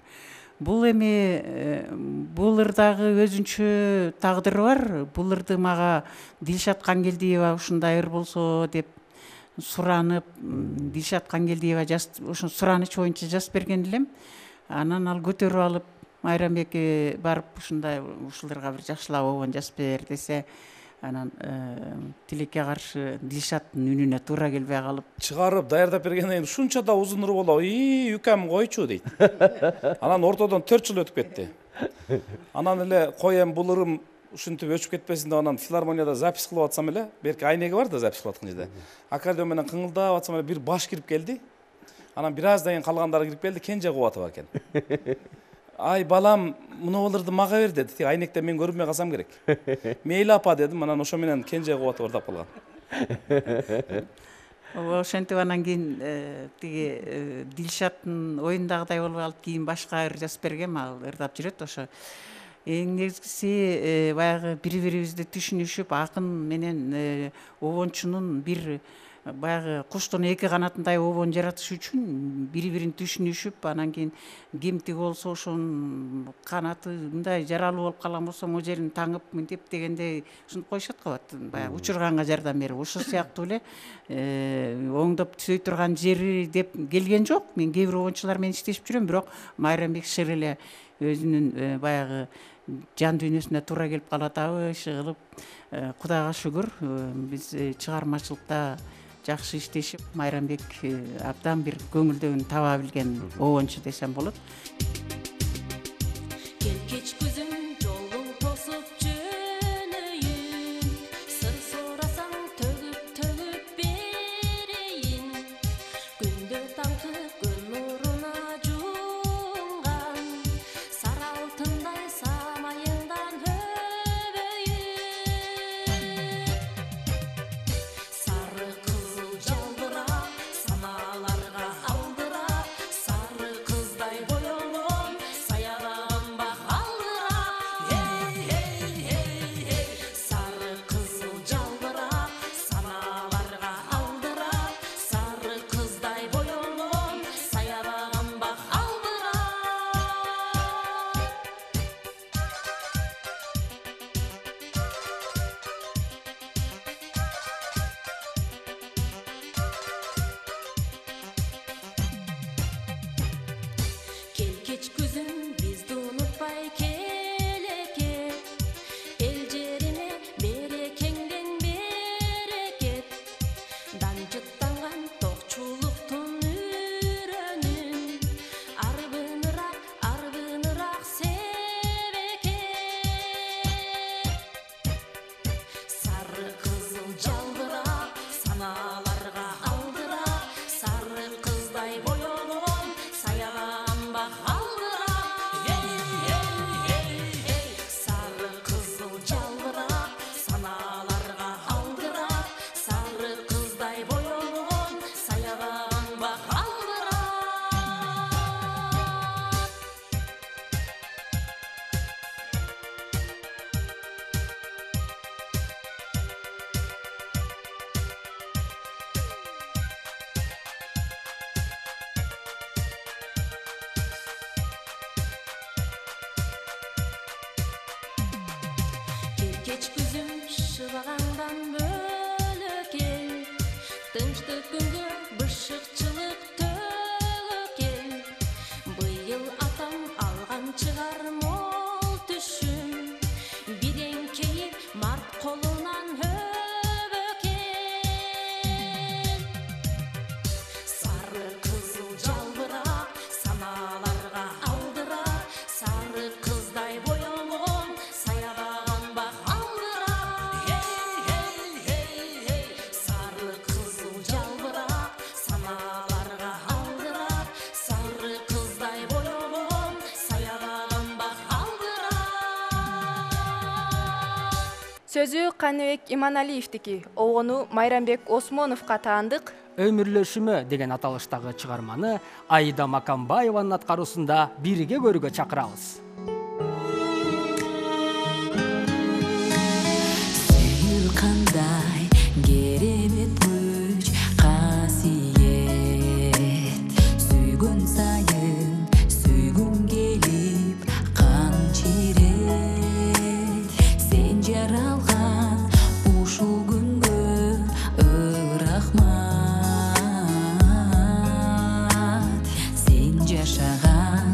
Бул эми бул ырдагы өзүнчө тагдыры бар. Бул ырды мага Дилшат Кангелдиева ушундай ыр болсо деп суранып, Дилшат Кангелдиева ошо сураныч боюнча жазып берген элем. Анан ал көтөрүп алып, Майрамбекке барып ушундай ушул ырга бир жакшылап обон жазып бер десе, анан тилекке каршы Дилшаттын үнүнө туура келбей калып, чыгарып даярдап бергенден кийин ушунча да узун ыр болобу, ии үкем койчу дейт. Анан ортодон төрт жыл өтүп кетти. Анан эле кой эми бул ырым ушинтип өчүп кетпесин деп анан филармонияда запись кылып атсам эле, берки айнеги бар да запись кылып аткан жерде. Аккордеон менен кыңылдап атсам эле бир баш кирип келди. Анан бир аздан кийин калгандары кирип келди, Кенже Кубатова экен. Ай балам, мына буларды мага бер деди. Тик айнекте мен көрүнбөй калсам керек. Мейли апа дедим, анан ошо менен Кенже Кубатова ырдап калган. Ошентип анан кийин тиги Дилшаттын оюндагыдай болуп алып, кийин башка ыр жазып бергем, ал ырдап жүрөт ошо. Эң негизгиси баягы бири-бирибизди түшүнүшүп, акын менен обончунун бир баягы куштун эки канатындай обон жаратыш үчүн бири-бирин түшүнүшүп, анан кийин ким тиги болсо ошонун канаты мындай жаралуу болуп калган болсо могу жерин таңып мынтип дегендей ушинтип коюшат го, баягы учурганга жардам берип, ошол сыяктуу эле оңдоп түзөй турган жери деп келген жок. Мен кээ бир обончулар менен иштешип жүрөм, бирок Майрамбек шыр эле өзүнүн баягы жан дүйнөсүнө туура келип калатабы, иши кылып, Кудайга шүгүр, биз чыгармачылыкта жакшы иштешип, Майрамбек абдан бир көңүлдөгүн таба билген обончу десем болот. Келкеч күзүм жолуң тосуп жөнөйүн, сыр сурасаң төгүп төгүп берейин, күндө таңкы күн нуруна жунган, сары алтындай самайыңдан өбөйүн, сары кызыл жалбырап саналарга алдырап, сары кыздай боёлгон саябагым бак алдырап, эй эй эй эй, сары кызыл жалбырап саналарга алдырап, сары кыздай боёлгон саябагым бак алдырап. Келкеч күзүм бизди унутпай келекет, эл жерине берекеңден берекет, данжыттанган токчулуктун үрөнүн, арбыныраак арбыныраак себекет, сары кызыл жалбырап саналарга алдырап, сары кыздай боёлгон саябагым бак алдырап, эй эй эй эй, сары кызыл жалбырап саналарга алдырап, сары кыздай боёлгон саябагым бак алдырап. Келкеч күзүм шыбагаңдан бөлөкел, тынчтык күнгө бышыкчылык төгөкел, быйыл атам алган чыгар мол түшүм, биреңкейи март колунан өбөкел, сары кызыл жалбырап саналарга алдырап, сары кыздай боёлгон саябагым бак алдырап, Сөзү Каныбек Иманалиевдики, обону Майрамбек Осмоновго таандык. Өмүрлөшүмө деген аталыштагы чыгарманы Аида Макамбаеванын аткаруусунда бирге көрүүгө чакырабыз. Сүйүү кандай керемет күч касиет, сүйгөн сайын сүйгүм келип камчирет, сен жаралган ушул күнгө ырахмат, сен жашаган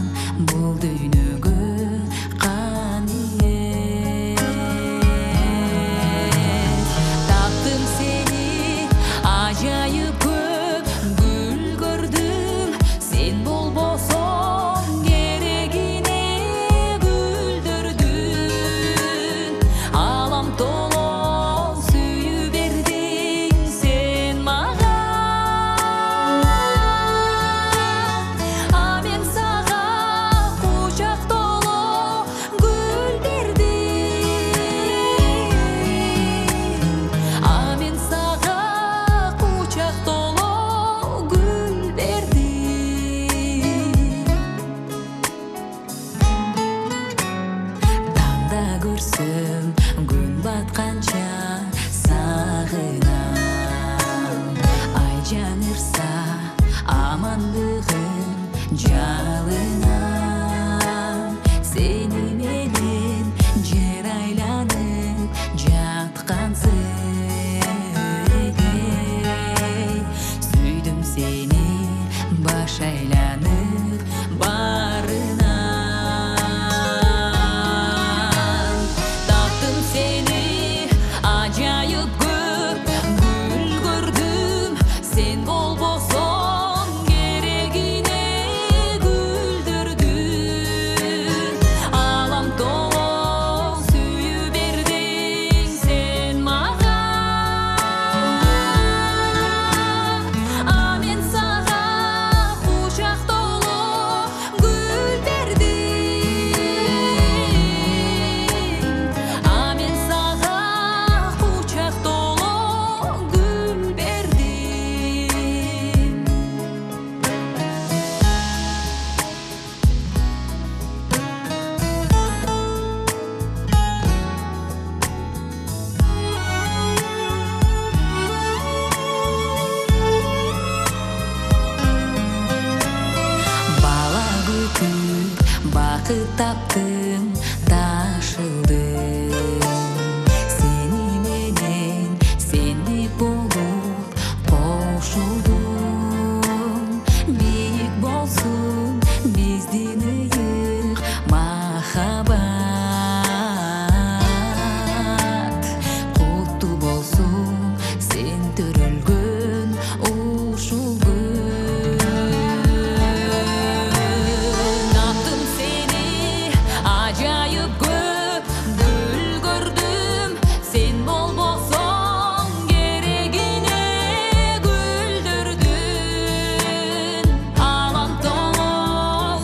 бул дүйнөгө каниет. Таптым сени ажайып көп гүл көрдүм, сен болбосоң керегине гүлдөрдүн, алам толо сүйүү бердиң сен мага, а мен сага кучак толо гүл бердим, а мен сага кучак толо гүл бердим. Таңда көрсөм күн батканча сагынам, ай жаңырса амандыгым жалынам, сени менен жер айланып жаткансың, сүйдүм сени баш айланып барынан. Таптым сени ажайып көп гүл көрдүм, сен болбосоң керегине гүлдөрдүн, алам толо сүйүү бердиң сен мага, а мен сага кучак толо гүл бердим, а мен сага кучак толо гүл бердим. Бала күтүп бакыт таптым, ташылдым, сени менен сендик болуп кошулдум, бийик болсун биздин ыйык махаббат, куттуу болсун сен төрөлгөн ушул күн. Таптым сени ажайып көп гүл көрдүм, сен болбосоң керегине гүлдөрдүн, алам толо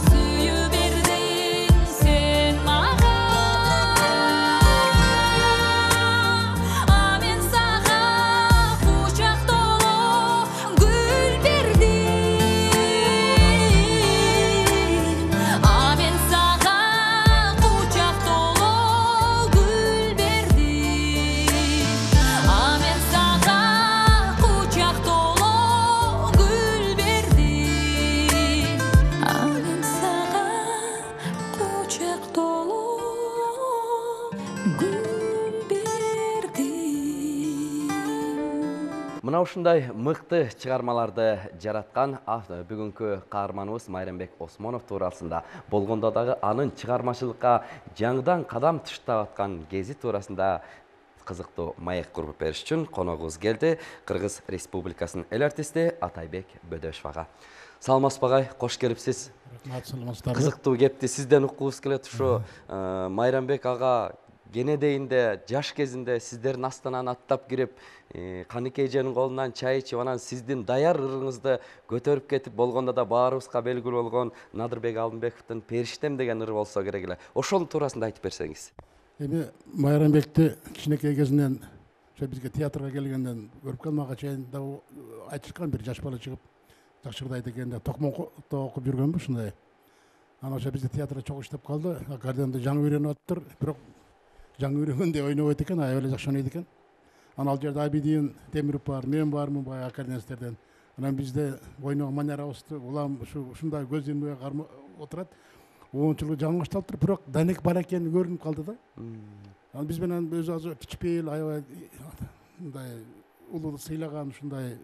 сүйүү бердиң сен мага, а мен сага кучак толо гүл бердим, а мен сага кучак толо гүл бердим, а мен сага кучак толо гүл бердим, а мен сага кучак толо гүл бердим. Мына ушундай мыкты чыгармаларды жараткан автор бүгүнкү каарманыбыз Майрамбек Осмонов туурасында болгондо дагы анын чыгармачылыкка жаңыдан кадам таштап аткан кези туурасында кызыктуу маек куруп бериш үчүн коногубуз келди. Кыргыз Республикасынын эл артисти Атайбек Бөдөшов ага. Саламатсызбы агай, кош келипсиз. Саламатсыздарбы. Кызыктуу кепти сизден уккубуз келет. Ушу Майрамбек ага кенедейинде жаш кезинде сиздердин астананы аттап кирип, Каныке эженин колунан чай ичип, анан сиздин даяр ырыңызды көтөрүп кетип, болгондо да баарыбызга белгилүү болгон Надырбек Алдынбековдун Периштем деген ыры болсо керек эле. Ошонун туурасында айтып берсеңиз. Эми Майрамбекти кичинекей кезинен ошо бизге театрга келгенден көрүп калмага чейин да айтышкан, бир жаш бала чыгып жакшырдайт экен деп Токмокто окуп жүргөнбү ушундай. Анан ошо бизде театрда чогуу иштеп калды. Аккордеонду жаңы үйрөнүп атыптыр, бирок жаңы үйрөнгөндөй ойнобойт экен, аябай эле жакшы ойнойт экен. Анан ал жерде Абидин Темиров бар, мен бармын баягы аккордеонисттерден. Анан бизде ойногон манерабызды улам ушу ушундай көз илмей кармап отурат. он жылга жаңы башталыптыр, бирок Данек бар экени көрүнүп калды да. Анан биз менен өзү азыр кичпейил, аябай мындай улуу сыйлаган ушундай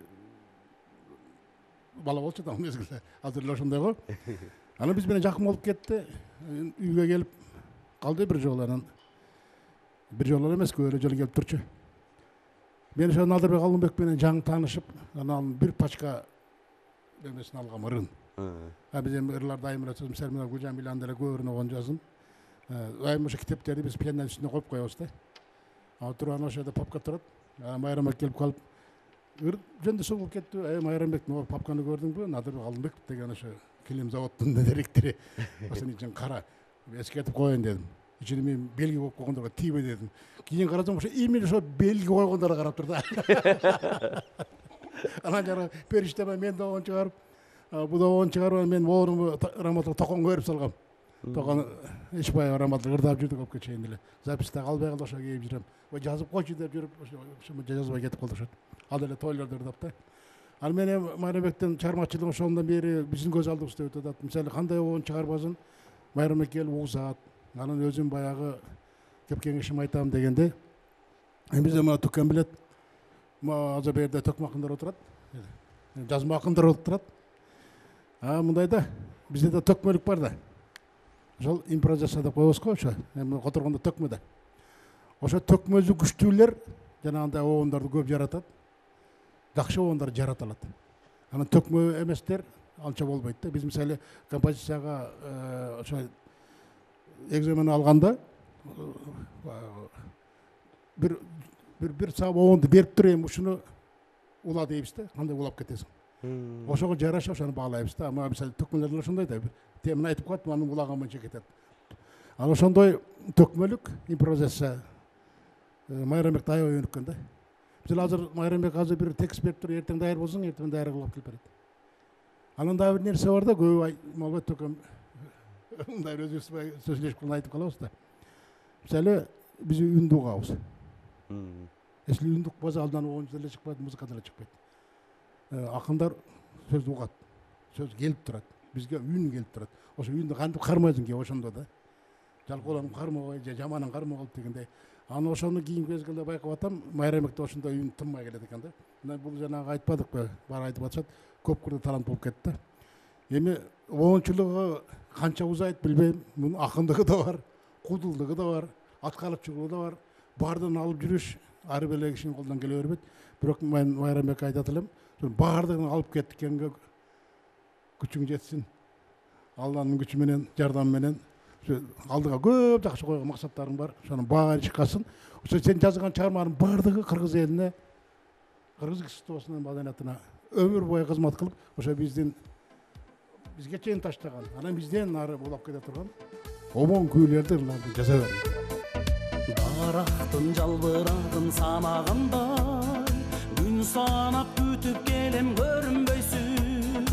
бала болчу да мезгилде. Азыр эле ошондой го. Анан биз менен жакын болуп кетти. Үйгө келип калды бир жолу. Анан бир жолу эмес, көп эле жолу келип турчу. Мен ошо Надырбек Алымбек менен жаңы таанышып, анан бир пачка эмесин алгам, ырын. А биз эми ырлар дайым эле сөзүм Сермина Гүлжамиланы деле көп ырын жаздым. Дайым ошо китептерди биз пианино үстүнө коюп коебуз да. Ал туруп анан ошо папка турат. Майрамбек келип калып, ыр жөндөй сугулуп кетти. Эй Майрамбек, могу папканы көрдүңбү? Надырбек Алымбек деген ошо килим заводдун директору. Ошонун үчүн кара. Эскертип коеюн дедим. Ичине мен белги коюп койгондорго тийбе дедим. Кийин карасам ошо именно ошо белги койгондорго карап тур да. Анан жана периштеме мен да он чыгарып, бу да он чыгарып, мен ооруму Раматов Токонго берип салгам. Токон Ишбаев Раматов ырдап жүрдүк өпкө чейин эле. Записьте калбай калды, ошо кийип жүрөм. Ой жазып койчу деп жүрүп, ошо жазбай кетип калды ошо. Ал эле тойлордо ырдап да. Ал менен Майрамбектин чыгармачылыгы ошондон бери биздин көз алдыбызда өтүп атат. Мисалы кандай оон чыгарбасын Майрамбек келип угузат. Анан өзүм баягы кеп кеңешим айтам дегенде, эми бизде мына Түккен билет, азыр берде Токмакындар отурат, жазма акындар отурат. А мындай да, бизде да төкмөлүк бар да. Ошол импровизация деп коебуз го ошо. Эми которгондо төкмө да. Ошо төкмөзү күчтүүлөр жанагындай оондорду көп жаратат. Жакшы оондар жарата алат. Анан төкмө эместер анча болбойт да. Биз мисалы композицияга ошо экзамен алганда бир бир бир саб оонду берип туруп, эми ушуну ула дейбиз да, кандай улап кетесиң. Ошого жараша ошону баалайбыз да. Ама мисалы төкмөлөр ошондой да. Темин айтып коет, анын улаган боюнча кетет. Ал ошондой төкмөлүк импровизация Майрамбек аябай өнүккөн да. Бизде азыр Майрамбек азыр бир текст берип туруп, эртең даяр болсоң, эртең даяр кылып келип берет. Анан дагы бир нерсе бар да, көп албайт төкөм. Мындай өзүбүз сөзлөшүп калып айтып калабыз да. Мисалы биз үндү угабыз. Если үндүк болсо алдан оон деле чыкпайт, музыка деле чыкпайт. Акындар сөз угат, сөз келип турат. Бизге үн келип турат. Ошо үндү кантип кармайсың ке ошондо да. Жалкооларын кармабай, же жаманын кармап алып дегендей. Аны ошону кийинки мезгилде байкап атам, Майрамбекте ошондой үн тынмай келет экен да. Мына бул жанагы айтпадыкпы, баары айтып атышат, көп кырда талант болуп кетти да. Эми оончулугу канча узайт билбейм. Мунун акындыгы да бар, кудулдугу да бар, аткарчылыгы да бар. Баардыгын алып жүрүш ар бир кишинин колунан келе бербейт. Бирок мен Майрамбекке айтат элем, баардыгын алып кеткенге күчүң жетсин. Алланын күчү менен, жардамы менен алдыга көп жакшы койгон максаттарың бар. Ошонун баары чыккасын. Ошо сен жазган чыгармаларың баардыгы кыргыз элине, кыргыз искусствосунун маданиятына өмүр бою кызмат кылып, ошо биздин бизге чейин таштаган, анан бизден ары улап кете турган омон күүлөрдү ырларды жаза берди. Дарактын жалбырагын санагандай, күн санап күтүп келем көрүнбөйсүң.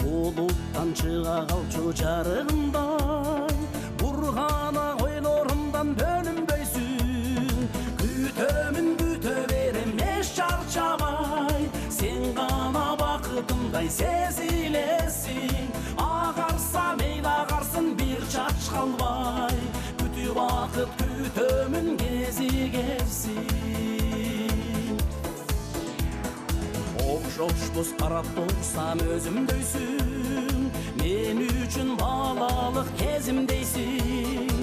Булуттан чыга калчу жарыгындай, бургана ойлорумдан бөлүнбөйсүң. Күтөмүн күтө берем эч чарчабай, сен гана бакытымдай сезилесиң. Агарса мейли агарсын бир чач калбай, күтүп бакыт күтөмүн кезигерсин. Окшошпуз карап турсам өзүмдөйсүң, мен үчүн балалык кезимдейсиң.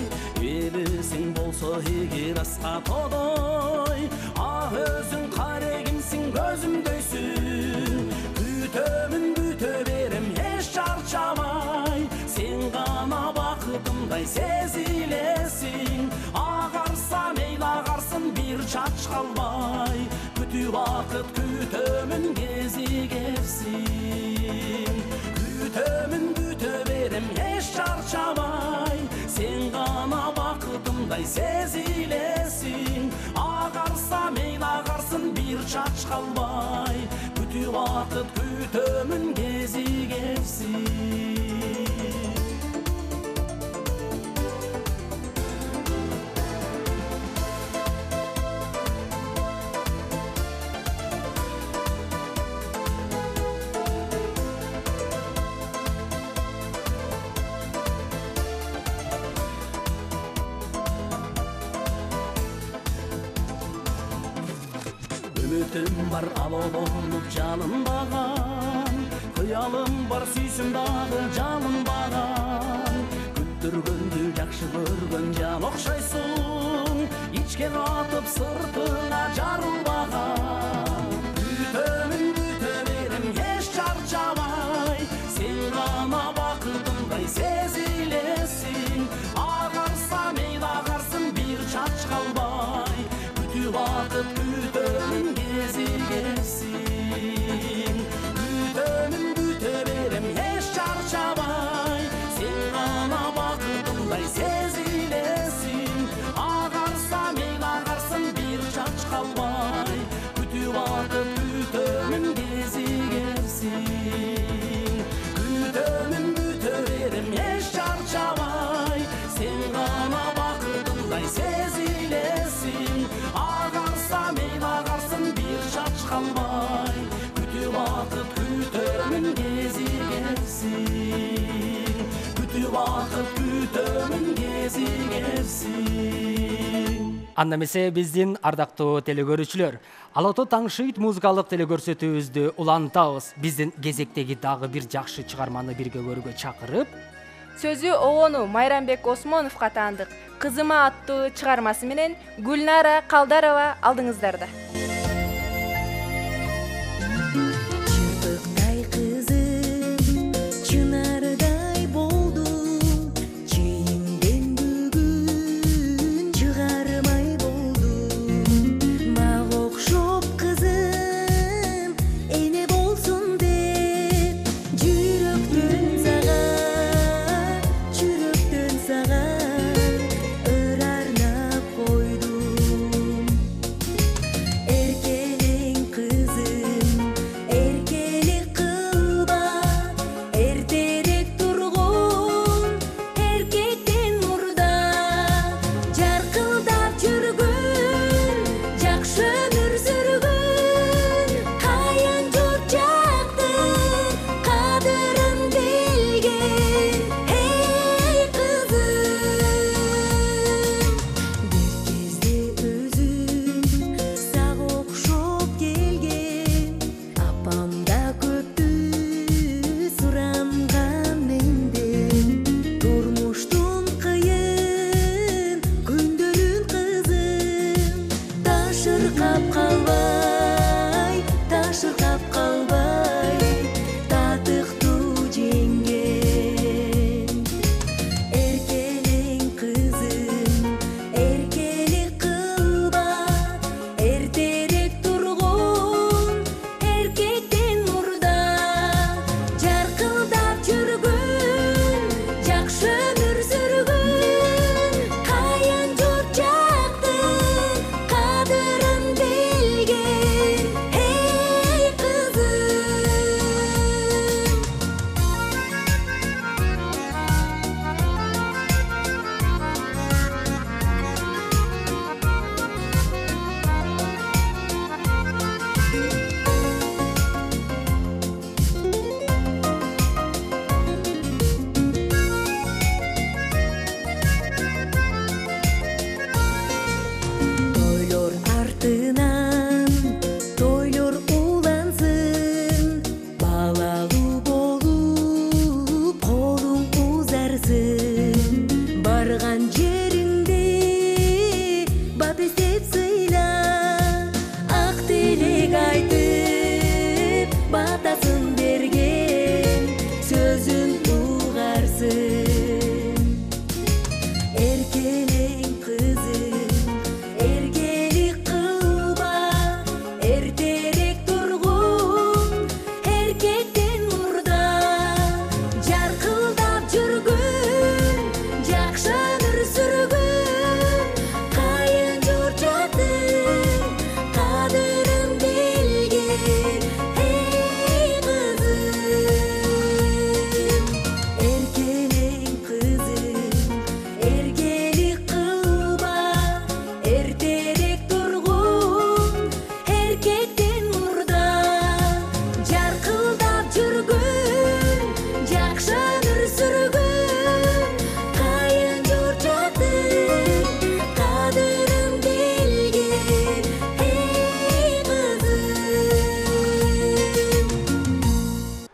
Элесиң болсо эгер аска тодой, а өзүң карегимсиң көзүмдөйсүң. Күтөмүн күтө берем эч чарчабай, сен гана бакытымдай сезилесиң. Агарса мейли агарсын бир чач калбай, күтүп бакыт күтөмүн кезигерсин. Күтөмүн күтө берем эч чарчабай, сен гана бакытымдай бакытымдай сезилесиң. Агарса мейли агарсын бир чач калбай, күтүп бакыт күтөмүн кези келсин. Үмүтүм бар алоолонуп жалынбаган, кыялым бар сүйсүм дагы жалынбаган. Күттүргөндү жакшы көргөн жан окшойсуң, ичке катып сыртыңа жарылбаган. Күтөмүн күтө берем эч чарчабай, сен гана бакытымдай сезилесиң. Агарса мейли агарсын бир чач калбай, күтүп бакыт күтөмүн кези келсин. Күтөмүн күтө берем эч чарчабай, сен гана бакытымдай сезилесиң. Агарса мейли агарсын бир чач калбай, күтүп бакыт күтөмүн кези келсин. Күтөмүн күтө берем эч чарчабай, сен гана бакытымдай сезилесиң. Агарса мейли агарсын бир чач калбай, күтүп бакыт күтөмүн кези келсин. Күтүп бакыт күтөмүн кези келсин. Анда эмесе биздин ардактуу телекөрүүчүлөр, Ала ото таң шыйт музыкалык телекөрсөтүүбүздү улантабыз. Биздин кезектеги дагы бир жакшы чыгарманы бирге көрүүгө чакырып, сөзү обону Майрамбек Осмоновго таандык «Кызыма» аттуу чыгармасы менен Гүлнара Калдарова алдыңыздарда. Чырпыктай кызым, чынардай болдум, чийимден бүгүн чыгармай болдум. Мага окшоп кызым, эне болсун деп, жүрөктөн сага, жүрөктөн сага ыр арнап койдум. Эркелең кызым, эркелик кылба, эртерээк тургун эркектен мурда, жаркылдап жүргүн, жакшы өмүр сүргүн, аян журт жактын кадырын билген. Эй кызым, бир кезде өзүм сага окшоп келген, апам да көптү суранган менден. Турмуштун кыйын күндөрүн кызым, ташыркап калбай, ташыркап калбай, татыктуу жеңген. Эркелең кызым, эркелик кылба, эртерээк тургун эркектен мурда, жаркылдап жүргүн, жакшы өмүр сүргүн, аян журт жактын кадырын билген.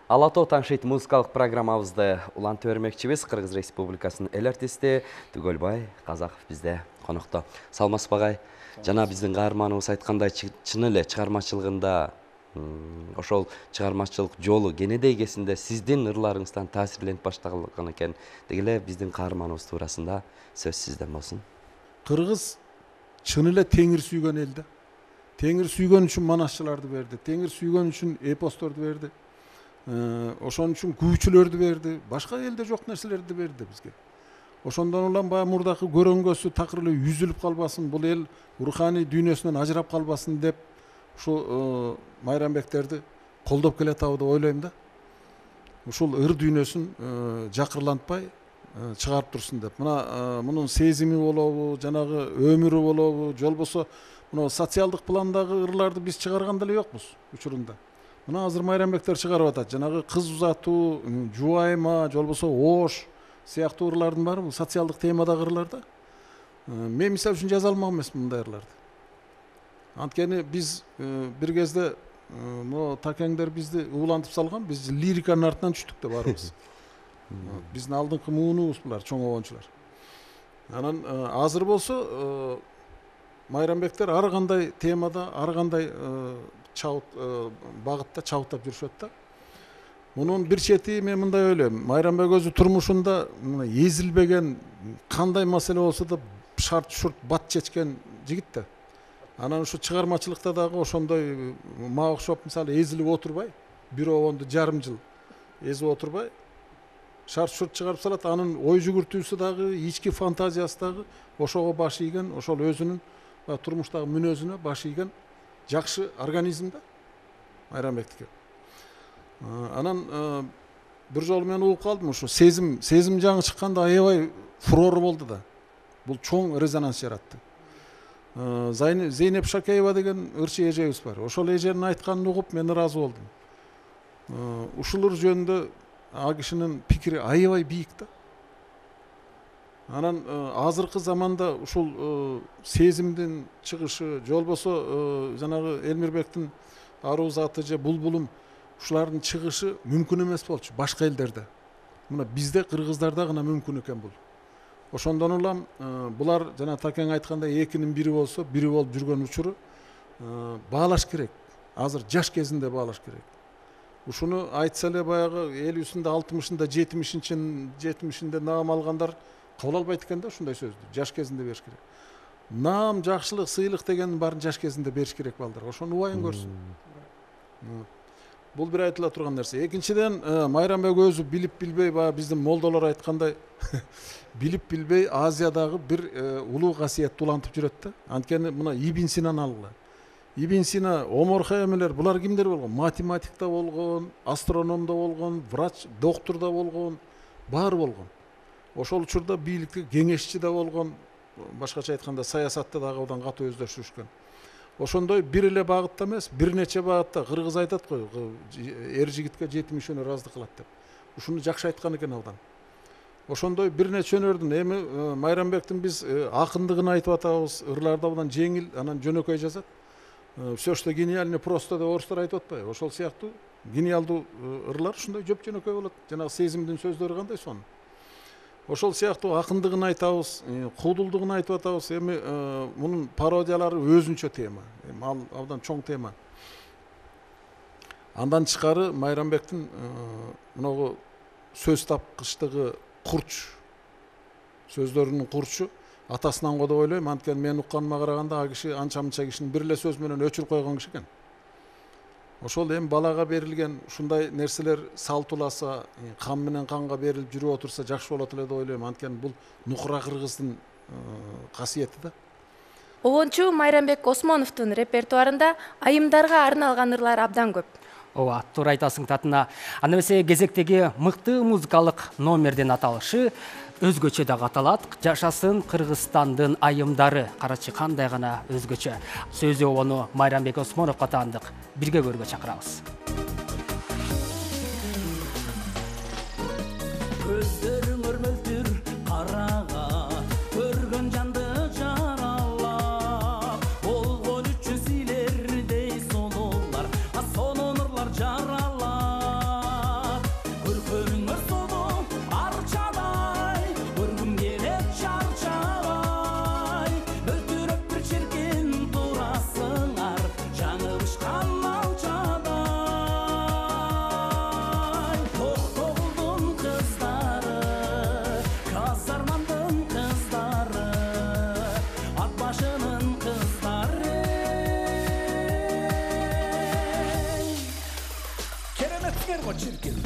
Ала Тоо Таңшыйт музыкалык программабызды улантып бермекчибиз. Кыргыз Республикасынын эл артисти Түгөлбай Казаков бизде конокто. Саламатсызбы агай? Жана биздин каарманыбыз айткандай, чын эле чыгармачылыгында ошол чыгармачылык жолу кенедей кезинде сиздин ырларыңыздан таасирленип баштаган экен. Деги эле биздин каарманыбыз туурасында сөз сизден болсун. Кыргыз чын эле теңир сүйгөн эл да. Теңир сүйгөн үчүн манасчыларды берди. Теңир сүйгөн үчүн эпосторду берди. Ошон үчүн күүчүлөрдү берди. Башка элде жок нерселерди берди бизге. Ошондон улам баягы мурдакы көрөнгөсү такыр эле үзүлүп калбасын, бул эл руханий дүйнөсүнөн ажырап калбасын деп ушул майрамбектерди колдоп келатабы деп ойлойм да. Ушул ыр дүйнөсүн жакырлантпай чыгарып турсун деп. Мына мунун сезими болобу, жанагы өмүрү болобу, же болбосо мына социалдык пландагы ырларды биз чыгарган деле жокпуз учурунда. Мына азыр майрамбектер чыгарып атат. Жанагы кыз узатуу, жубайма, же болбосо ош сыяктуу ырлардын баары бул социалдык темадагы ырлар да. Мен мисалы үчүн жаза алмак эмесмин мындай ырларды. Анткени биз бир кезде могу такеңдер бизди уулантып салган, биз лириканын артынан түштүк да баарыбыз. Биздин алдыңкы муунубуз булар, чоң обончулар. Анан азыр болсо майрамбектер ар кандай темада, ар кандай чабыт багытта чабыттап жүрүшөт да. Мунун бир чети мен мындай ойлойм. Майрамбек өзү турмушунда эзилбеген, кандай маселе болсо да шарт шурт бат чечкен жигит да. Анан ушу чыгармачылыкта дагы ошондой мага окшоп мисалы эзилип отурбай, бир обонду жарым жыл эзип отурбай, шарт шурт чыгарып салат. Анын ой жүгүртүүсү дагы, ички фантазиясы дагы ошого баш ийген, ошол өзүнүн турмуштагы мүнөзүнө баш ийген жакшы организм да майрамбектики. Анан бир жолу мен угуп калдым, ушу сезим сезим жаңы чыкканда аябай фурор болду да. Бул чоң резонанс жаратты. Зейнеп Шакеева деген ырчы эжебиз бар. Ошол эженин айтканын угуп мен ыраазы болдум. Ушул ыр жөнүндө а кишинин пикири аябай бийик да. Анан азыркы заманда ушул сезимдин чыгышы, же болбосо жанагы Элмирбектин аруу заты же булбулум ушулардын чыгышы мүмкүн эмес болчу башка элдерде. Мына бизде кыргыздарда гана мүмкүн экен бул. Ошондон улам булар жана такең айткандай экинин бири болсо, бири болуп жүргөн учуру баалаш керек. Азыр жаш кезинде баалаш керек. Ушуну айтса эле баягы элүүсүндө, алтымышында, жетимишинде наам алгандар кабыл албайт экен да ушундай сөздү. Жаш кезинде бериш керек. Наам, жакшылык, сыйлык дегендин баарын жаш кезинде бериш керек балдарга. Ошону убайын көрсүн. Бул бир айтыла турган нерсе. Экинчиден, Майрамбек өзү билип билбей, баягы биздин молдолор айткандай, билип билбей Азиядагы бир улуу касиетти улантып жүрөт да. Анткени мына Ибн Синаны алгыла. Ибн Сина, Омар Хайямелер, булар кимдер болгон? Математикта болгон, астрономдо болгон, врач, доктурда болгон, баары болгон. Ошол учурда бийликте кеңешчи да болгон, башкача айтканда саясатта дагы абдан катуу өздөштүрүшкөн. Ошондой бир эле багытта эмес, бир нече багытта кыргыз айтат го, эр жигитке жетимиш өнөр аздык кылат деп. Ушуну жакшы айткан экен абдан. Ошондой бир нече өнөрдүн эми Майрамбектин биз акындыгын айтып атабыз, ырларды абдан жеңил, анан жөнөкөй жазат. Все, что гениально, просто деп орустар айтып атпайбы? Ошол сыяктуу гениалдуу ырлар ушундай жөп жөнөкөй болот. Жанагы сезимдин сөздөрү кандай сонун. Ошол сыяктуу акындыгын айтабыз, куудулдугун айтып атабыз. Эми мунун пародиялары өзүнчө тема. Эми ал абдан чоң тема. Андан тышкары Майрамбектин мынагу сөз тапкычтыгы курч, сөздөрүнүн курчу атасынан го деп ойлойм. Анткени мен укканыма караганда а киши анча-мынча кишинин бир эле сөз менен өчүрүп койгон киши экен. Ошол эми балага берилген ушундай нерселер салтуласа, кан менен канга берилип жүрүп отурса жакшы болот эле деп ойлойм. Анткени бул нукура кыргыздын касиети да. Обончу Майрамбек Осмоновдун репертуарында айымдарга арналган ырлар абдан көп. Ооба, туура айтасың татына. Аны эмесе кезектеги мыкты музыкалык номердин аталышы өзгөчө да аталат. Жашасын Кыргызстандын айымдары. Карачы кандай гана өзгөчө. Сөзү обону Майрамбек Осмоновго таандык. Бирге көргө чакырабыз. Көздөрүң өрмөлтүр карага, көргөн жанды жаралап, болгон үчүн силердей сонолор, а сонун ырлар жаралап. чиркин.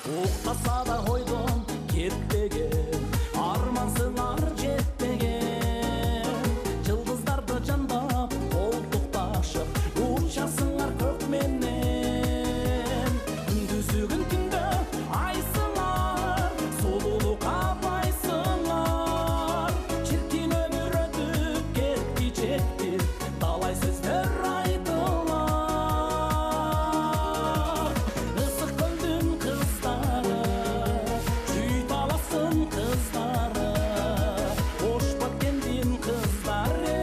Уктаса да койдон кетпеген, армансыңар жетпеген. Жылдыздарды жандап, колтукташып, учасыңар көк менен. Күндүзүгүн түндө айсыңар, сулуулукка байсыңар. Чиркин өмүр өтүп кетти жетти, талай сөздөр айтылар. Ысык көлдүн кыздары, чүй таласын кыздары, ош баткендин кыздары.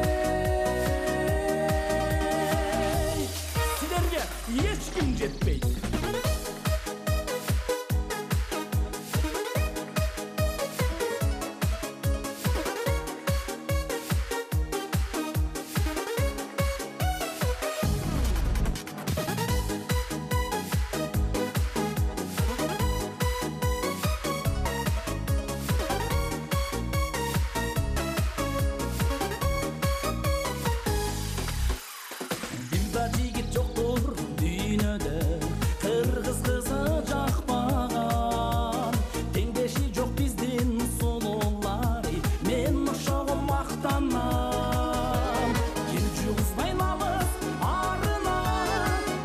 Силерге эч ким жетпейт. Дилда жигит жоктур дүйнөдө, кыргыз кызы жакпаган. Теңдеши жок биздин сулуулары, мен ошого мактанам. Кирчү кызбайын алыс арына,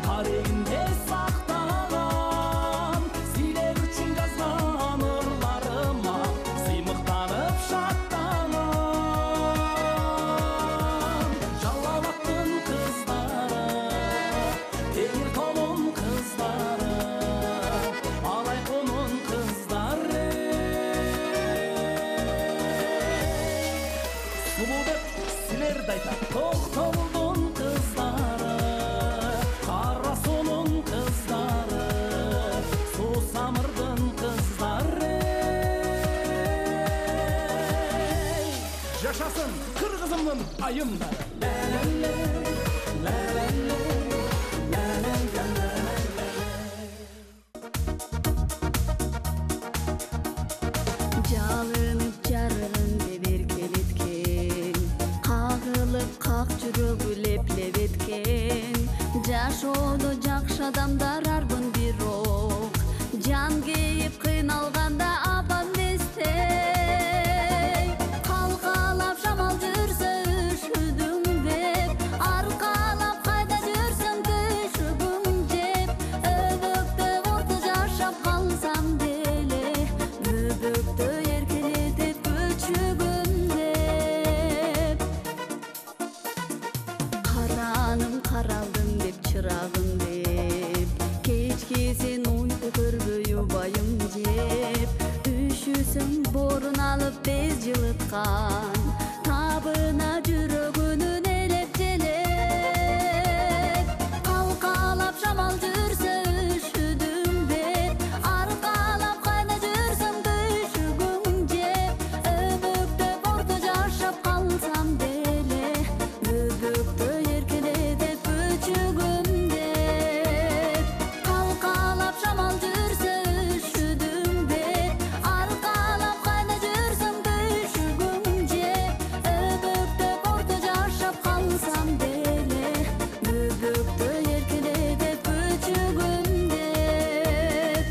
карегинде сактаган. Силер үчүн жазган ырларыма, сыймыктанып шаттанам. Жалал аттын кыздары, Темир толун кыздары, Алай конун кыздары. Сулуу деп силерди айтат Токтогулдун кыздары, Кара суунун кыздары, Суусамырдын кыздары. Жашасын кыргызымдын айымдары. Ла-ла-ла, ла-ла-ла, ла-ла-ла, ла-ла-ла. Жалынып жарыгын деп эркелеткен, кагылып как жүрөгү леп-леп эткен. Жашоодо жакшы адамдар арбын бирок, жан кейип кыйналганда апам эстей. Калкалап шамал жүрсө үшүдүм деп, аркалап кайда жүрсөң түшүгүң жеп. Өбөктө орто жашап калсам деле, өбөктө эркелетип көчүгүм деп. Караным каралдым деп чырагым деп, кечкесин уйку көрбөй убайым жеп. Үшүсөң борун алып тез жылыткан, табына жүрөгүнүн элеп желеп. Калкалап шамал жүрсө үшүдүм деп, аркалап кайда жүрсөң түшүгүң жеп. Өбөктө орто жашап калсам деле, өбөктө эркелетип көчүгүм деп. Калкалап шамал жүрсө үшүдүм деп, аркалап кайда жүрсөң түшүгүң жеп. Өбөктө орто жашап калсам деле, өбөктө эркелетип көчүгүм деп.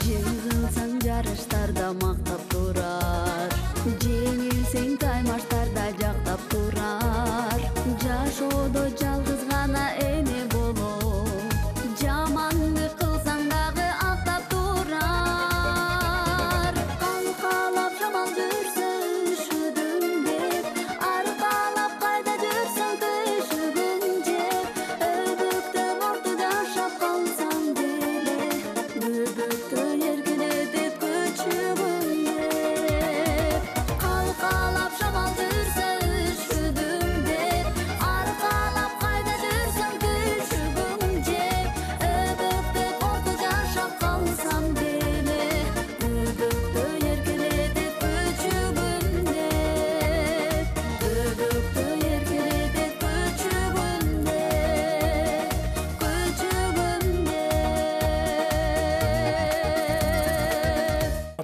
Жеңилсең жарыштарда мактап турар, жеңилсең таймаштарда жактап турар. Жашоодо жалгыз гана эне болоп, жамандык кылсаң дагы актап турар. Калкалап шамал жүрсө үшүдүм деп, аркалап кайда жүрсөң түшүгүң жеп. Өбөктө орто жашап калсаң деле, өбөктө эркелетип көчүгүм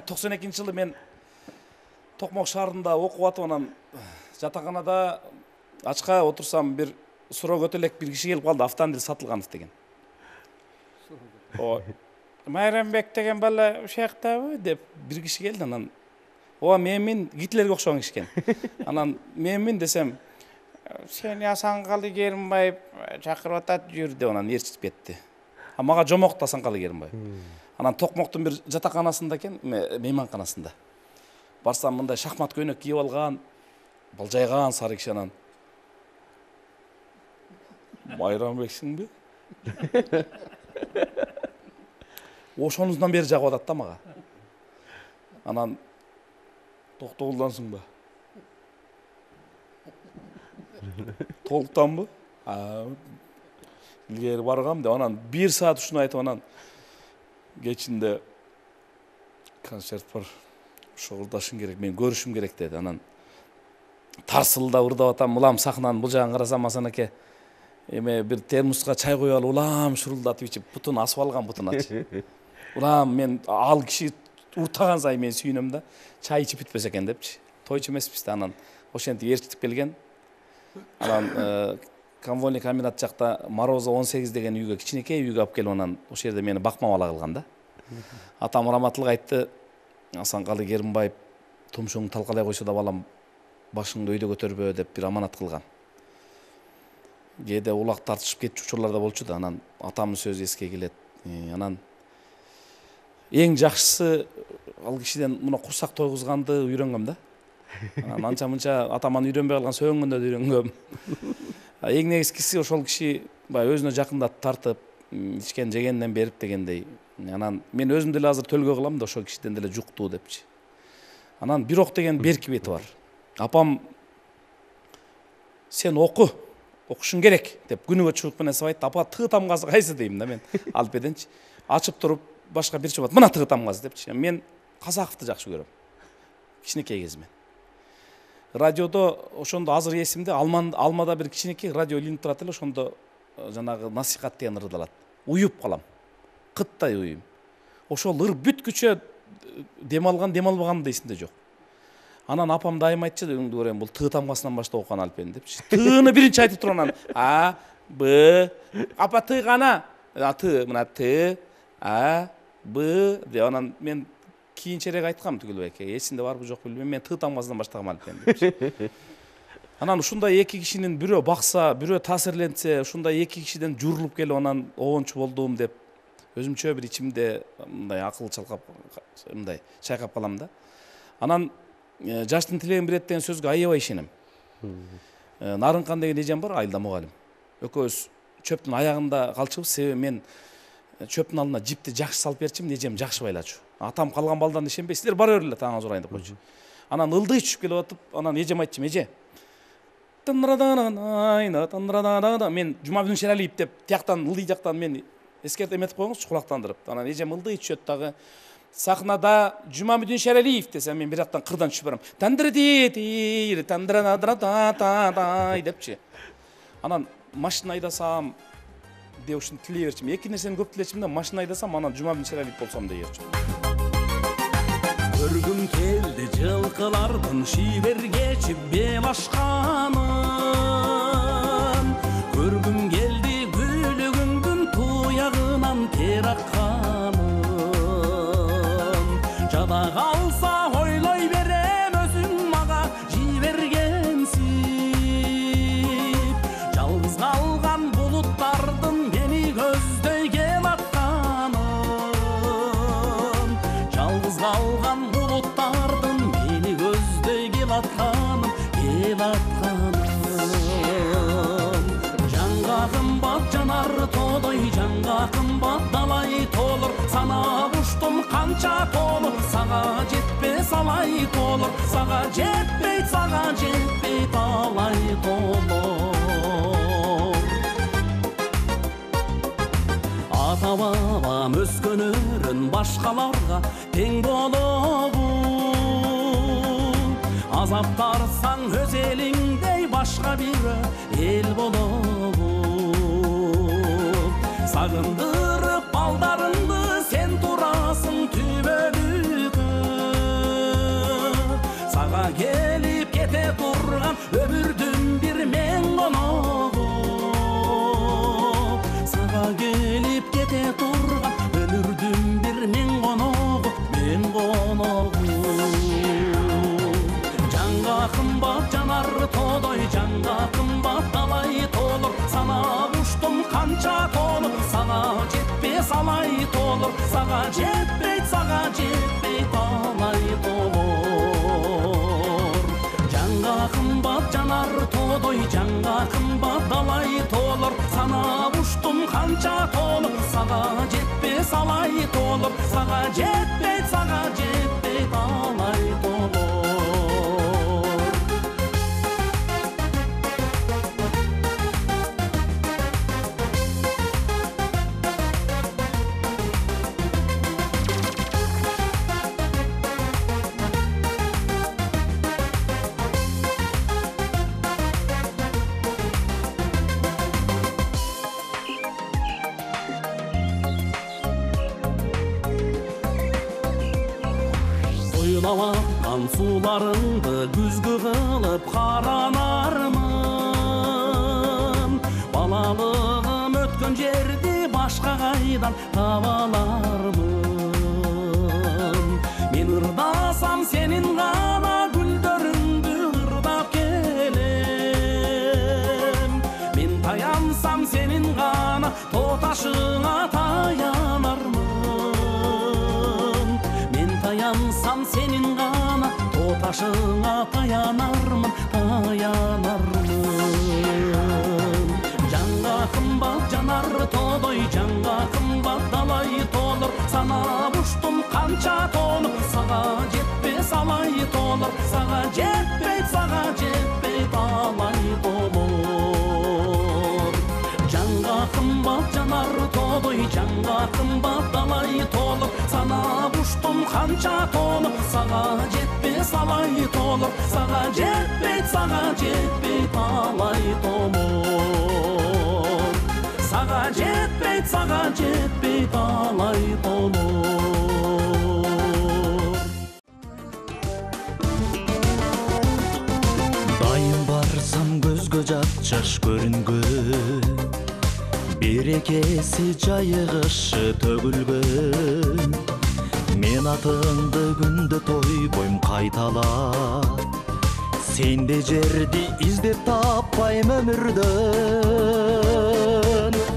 токсон экинчи жылы мен Токмок шаарында окуп атып, анан жатаканада ачка отурсам, бир суроо өтө элек бир киши келип калды, Автандил Сатылганов деген. О, Майрамбек деген бала ушактабы деп бир киши келди, анан ооба менмин, Гитлерге окшогон киши экен. Анан менмин десем, сени Асанкалы Керимбаев чакырып атат, жүр деп анан ээрчитип кетти. А мага жомок Асанкалы Керимбаев. Анан Токмоктун бир жатаканасында экен, мейманканасында. Барсам мындай шахмат көйнөк кийип алган, балжайган сары киши, анан Майрамбексиңби? Ошонуздан бери жагып атат да мага. Анан Токтогулдансыңбы? Толуктанбы? Илгери баргам деп анан бир саат ушуну айтып, анан кечинде концерт бар, шогурдашың керек, мен көрүшүм керек деди. Анан тарсылдап ырдап атам, улам сахнанын бул жагын карасам, Асан аке эме бир термоска чай коюп алып, улам шурулдатып ичип, бутун асып алган бутун ачы. Улам мен ал киши уртаган сайын мен сүйүнөм да, чай ичип бүтпөс экен депчи. Тойчу эмеспиз да, анан ошентип ээрчитип келген. Анан Конвольный комбинат жакта Морозо он сегиз деген үйгө, кичинекей үйгө алып келип, анан ошол жерде мени бакмап ала калган да. Атам раматылык айтты, Асанкалы Керимбаев тумшуңду талкалай койсо да балам, башыңды өйдө көтөрбө деп бир аманат кылган. Кээде улак тартышып кетчү учурлар да болчу да, анан атамдын сөзү эске келет. Анан эң жакшысы ал кишиден мына курсак тойгузганды үйрөнгөм да. Анан анча мынча атаман үйрөнбөй калган, сөйөнгөндө үйрөнгөм. Эң негизгиси ошол киши баягы өзүнө жакындатып тартып, ичкен жегенден берип дегендей. Анан мен өзүм деле азыр төлгө кылам да, ошол кишиден деле жуктуу депчи. Анан бирок деген берки бети бар. Апам сен оку, окушуң керек деп күнүгө чурк менен сабайт. Апа тыгы тамгасы кайсы дейм да мен Алпеденчи. Ачып туруп башка бир чобат, мына тыгы тамгасы депчи. Мен Казаковду жакшы көрөм. Кичинекей кезимен. Радиодо ошондо азыр эсимде, Алмада бир кичинекей радио илинип турат эле, ошондо жанагы насихат деген ырдалат. Уюп калам. Кыттай уюм. Ошол ыр бүткүчө дем алган, дем албаган да эсимде жок. Анан апам дайым айтчу, өңдү көрөм, бул тыгы тамгасынан баштап окуган Алпен депчи. Тыгыны биринчи айтып туруп анан А, Б, апа тыгы кана? Аты, мына Т, А, Б деп анан мен кийинчерээк айткам Түгүлбеке, эсинде барбы жок билбейм, мен тыгы тамгасынан баштагам Алпен депчи. Анан ушундай эки кишинин бирөө бакса, бирөө таасирленсе, ушундай эки кишиден журулуп келип анан обончу болдум деп өзүмчө бир ичимде мындай акыл чалкап, мындай чайкап калам да. Анан жаштын тилегин берет деген сөзгө аябай ишенем. Нарынкан деген эжем бар, Айылда мугалим. Экөөбүз чөптүн аягында калчубуз, себеби мен чөптүн алдына жипти жакшы салып берчимин, эжем жакшы байлачу. Атам калган балдарына ишенбейсиздер, бара берле таңыңыз урайын деп койчу. Анан ылдый түшүп келип атып, анан эжем айтчым, эже мен Жумабүдүн Шералиев деп тияктан, ылдый жактан мен эскертип эметип коюңузчу, кулактандырып. Анан эжем ылдый түшөт дагы. Сахнада Жумабүдүн Шералиев десем, мен бир жактан кырдан түшүп барам. Тандырдир, тандырадрататай депчи. Анан машина айдасам деп ушуну тилей берчим. Эки нерсени көп тилечим да, машина айдасам, анан Жумабүдүн Шералиев болсом дей берчим. Көргүм келди жылкылардын шибергечип бел ашканын. Көргүм келди күлүгүңдүн туягынан тер акканын. Жада калса ойлой берем өзүң мага жибергенсип. Жалгыз калган булуттардын мени көздөй кел атканын. Жалгыз калган булуттардын мени көздөй кел атканын, кел атканын. Жанга кымбат жанар тоодой, жанга кымбат далай толур. Санап уштум канча толур, сага жетпес алай толур. Сага жетпейт, сага жетпейт алай толур. Ата бабам өскөнөрүн башкаларга тең болобу. Азаптарсаң өз элиңдей башка бир эл болобу. Сагындырып балдарыңды сен турасың түбөлүккө. сен коногум. Жанга кымбат жанар тоодой, жанга кымбат далай толур. Санап уштум канча толуп, сага жетпес алай толур. Сага жетпейт, сага жетпейт алай толур. Жанга кымбат жанар тоодой, жанга кымбат далай толур. Санап уштум канча толуп, сага жетпес алай толур. Сага жетпейт, сага жетпейт алай толур. Суйлаватқан суларыңды күзгү кылып каранармын. Балалыгым өткөн жерди башка кайдан таба алармын. Мен ырдасам сенин гана гүлдөрүңдү ырдап келем. Мен таянсам сенин гана тоо ташыңа таянармын. Мен таянсам сенин гана тоо ташыңа таянармын, таянармын. Жанга кымбат жанар тоодой, жанга кымбат далай толур. Санап уштум канча толуп, сага жетпес алай толур. Сага жетпейт, сага жетпейт алай толур. Жанга кымбат жанар тоодой, жанга кымбат далай толур. Санап уштум канча толуп, сага жетпес алай толур. Сага жетпейт, сага жетпейт алай толур. Сага жетпейт, сага жетпейт алай толур. Дайым барсам көзгө жат жаш көрүнгөн, берекеси жайыгышы төгүлгөн. Мен атыңды күндө тойбойм кайталап, сенде жерди издеп таппайм өмүрдөн.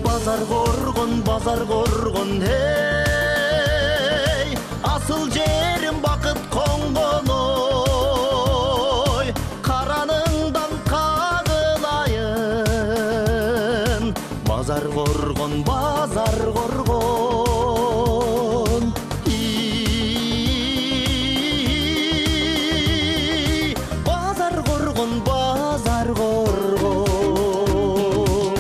Базар коргон, базар коргон, эй, асыл жерим бакыт конгон ой. Караныңдан кагылайын, базар коргон, базар коргон. Базар коргон, базар коргон.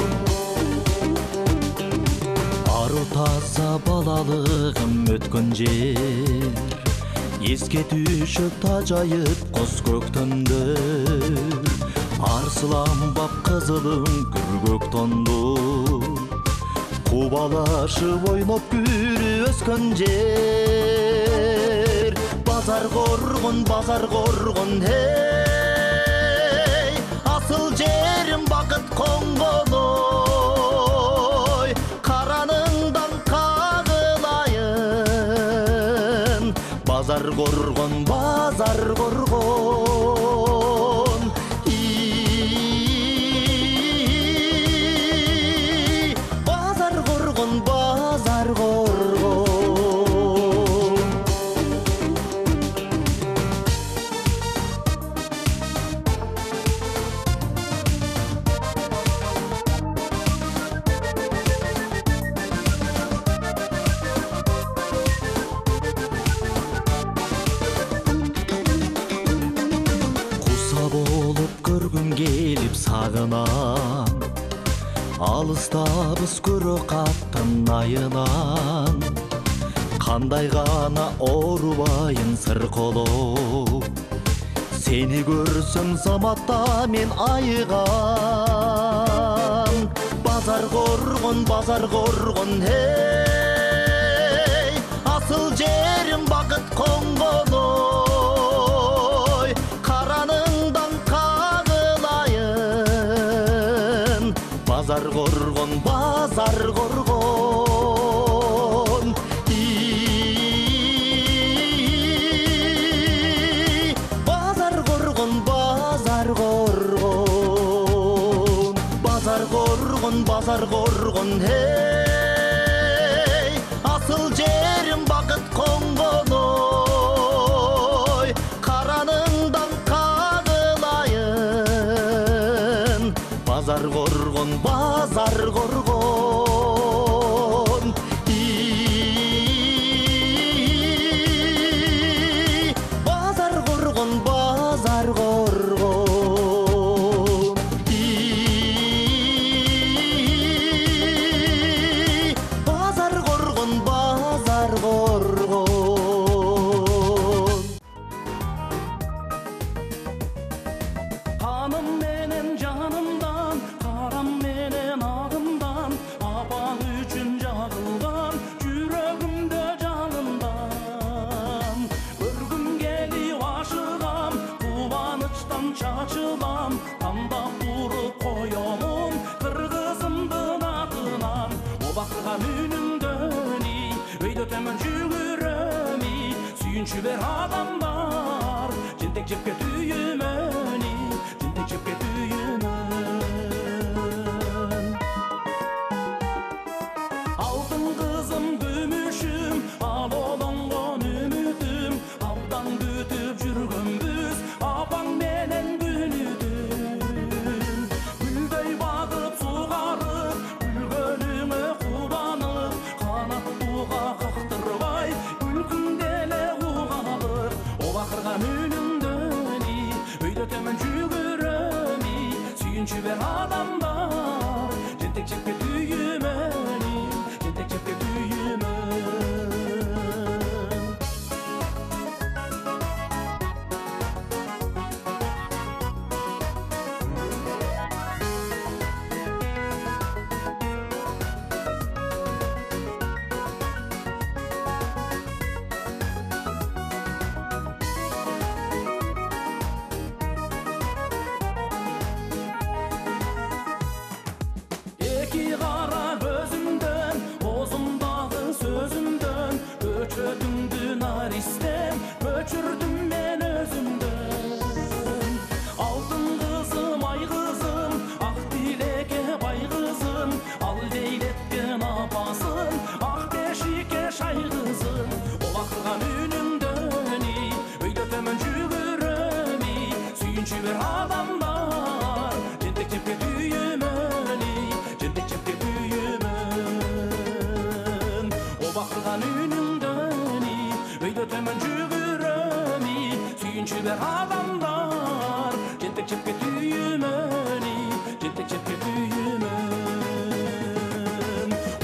Ару таза балалыгым өткөн жер, эске түшөт тажайып коз көктөмдөр. Арсыланбап кызылым күргөк тонду, кубалашып ойноп күрү өскөн жер. Базар коргон, базар коргон, эй, асыл жерим бакыт конгон ой. Караныңдан кагылайын, базар коргон, базар коргон. Базар коргон, базар коргон. Көргүм келип сагынам, алыстабыз көрө каттын айынан. Кандай гана оорубайын сырколоп, сени көрсөм заматта мен айыгам. Базар коргон, базар коргон, эй, асыл жерим бакыт конгон ой. Караныңдан кагылайын, базар коргон, базар коргон. базар коргон эй асыл жерим бакыт конгон ой караныңдан кагылайын базар коргон базар коргон базар коргон базар коргон базар коргон базар коргон Каным менен жанымдан, карам менен агымдан, апаң үчүн жагылган жүрөгүмдө жалындан. Көргүм келип ашыгам, кубанычтан чачылам, тандап туруп коёмун кыргызымдын атынан. Обакырган үнүңдөни, өйдө төмөн жүгүрөми, сүйүнчү бер адамдар, жентек жепке түйүмөни, жентек жепке түйүмөн. Алтын кызым күмүшүм, ал олонгон үмүтүм, абдан күтүп жүргөнбүз, апаң менен күнүтүн. Гүлдөй багып сугарып, күлгөнүңө кубанып, канаттууга кактырбай, күлкүңдө эле угалып, обакырган үнүңдөни, өйдө төмөн жүгүрөми, сүйүнчү бер адамдар, жентек жепке түйүмөни, жентек жепке түйүмөн. Эки кара көзүмдөн, оозумдагы сөзүмдөн, көчөтүңдү наристен, көчүрдүм мен өзүмдөн. Алтын кызым, ай кызым, ак тилекке бай кызым, ал дейлеткен апасын, ак бешикке шай кызым. Обакырган үнүңдөни, өйдө төмөн жүгүрөми, сүйүнчү бер адамдар, жентек жепке түйүмөни, жентек жепке түйүмөн. Обакырган үнүңдөни, өйдө төмөн жүгүрөми, сүйүнчү бер адамдар, жентек жепке түйүмөни, жентек жепке түйүмөн.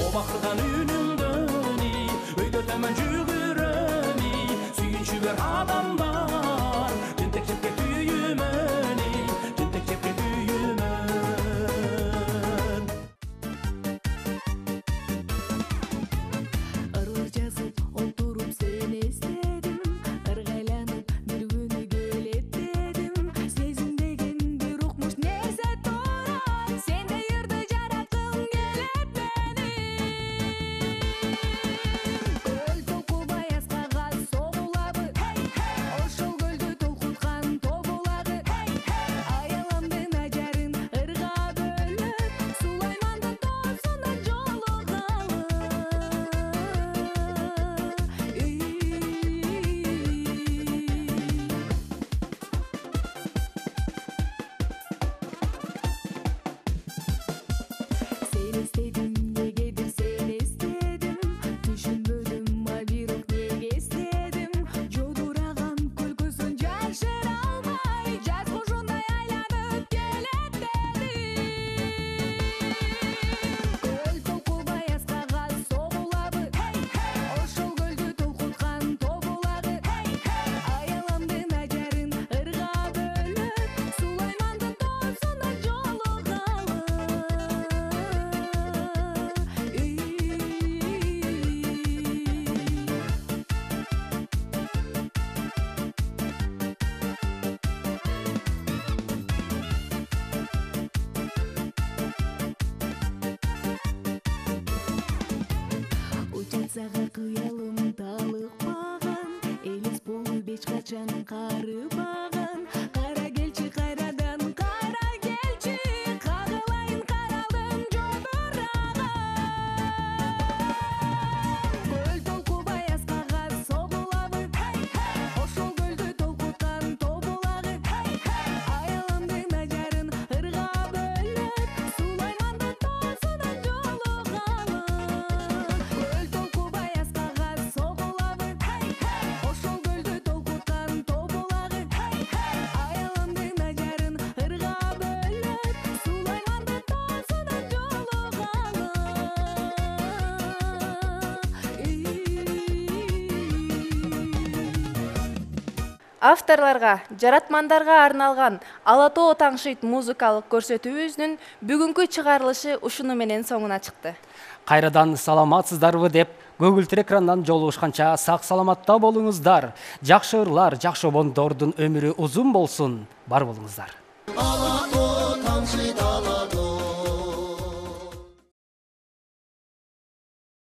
Обакырган үнүңдөни, өйдө төмөн жүгүрөми, сүйүнчү бер адамдар, жентек жепке түйүмөни, жентек жепке түйүмөн. Ырыл жазып отуруп сени эстедим, ыргайланып бир күнү келеттедим. Сезим деген бир укмуш нерсе турат, сендей ырды жараткым келет менин. Көл толкубай аскага согулабы, ошол көлдү толкуткан тобулагы. Аялымдын ажарын ырга бөлөп, Сулаймандын тоосунда жолугалы. Сени эстедим, негедир сени эстедим, түшүнбөдүм, а бирок неге эстедим. Жодураган күлкүсүн жашыра албай, жаз кушундай айланып келеттедим. Көл толкубай аскага согулабы, ошол көлдү толкуткан тобулагы. Аялымдын ажарын ырга бөлөп, Сулаймандын тоосунда жолугалы. Учатсага кыялым талыкпаган, элес болуп эч качан карыбаган. Кара келчи кайрадан, кара келчи, кагылайын каралдым жодура. Авторларга, жаратмандарга арналган Ала тоо таңшыйт музыкалык көрсөтүүбүздүн бүгүнкү чыгарылышы ушуну менен соңуна чыкты. Кайрадан саламатсыздарбы деп көгүлтүр экрандан жолугушканча сак саламатта болуңуздар. Жакшы ырлар, жакшы обондордун өмүрү узун болсун. Бар болуңуздар. Ала тоо таңшыйт ала тоо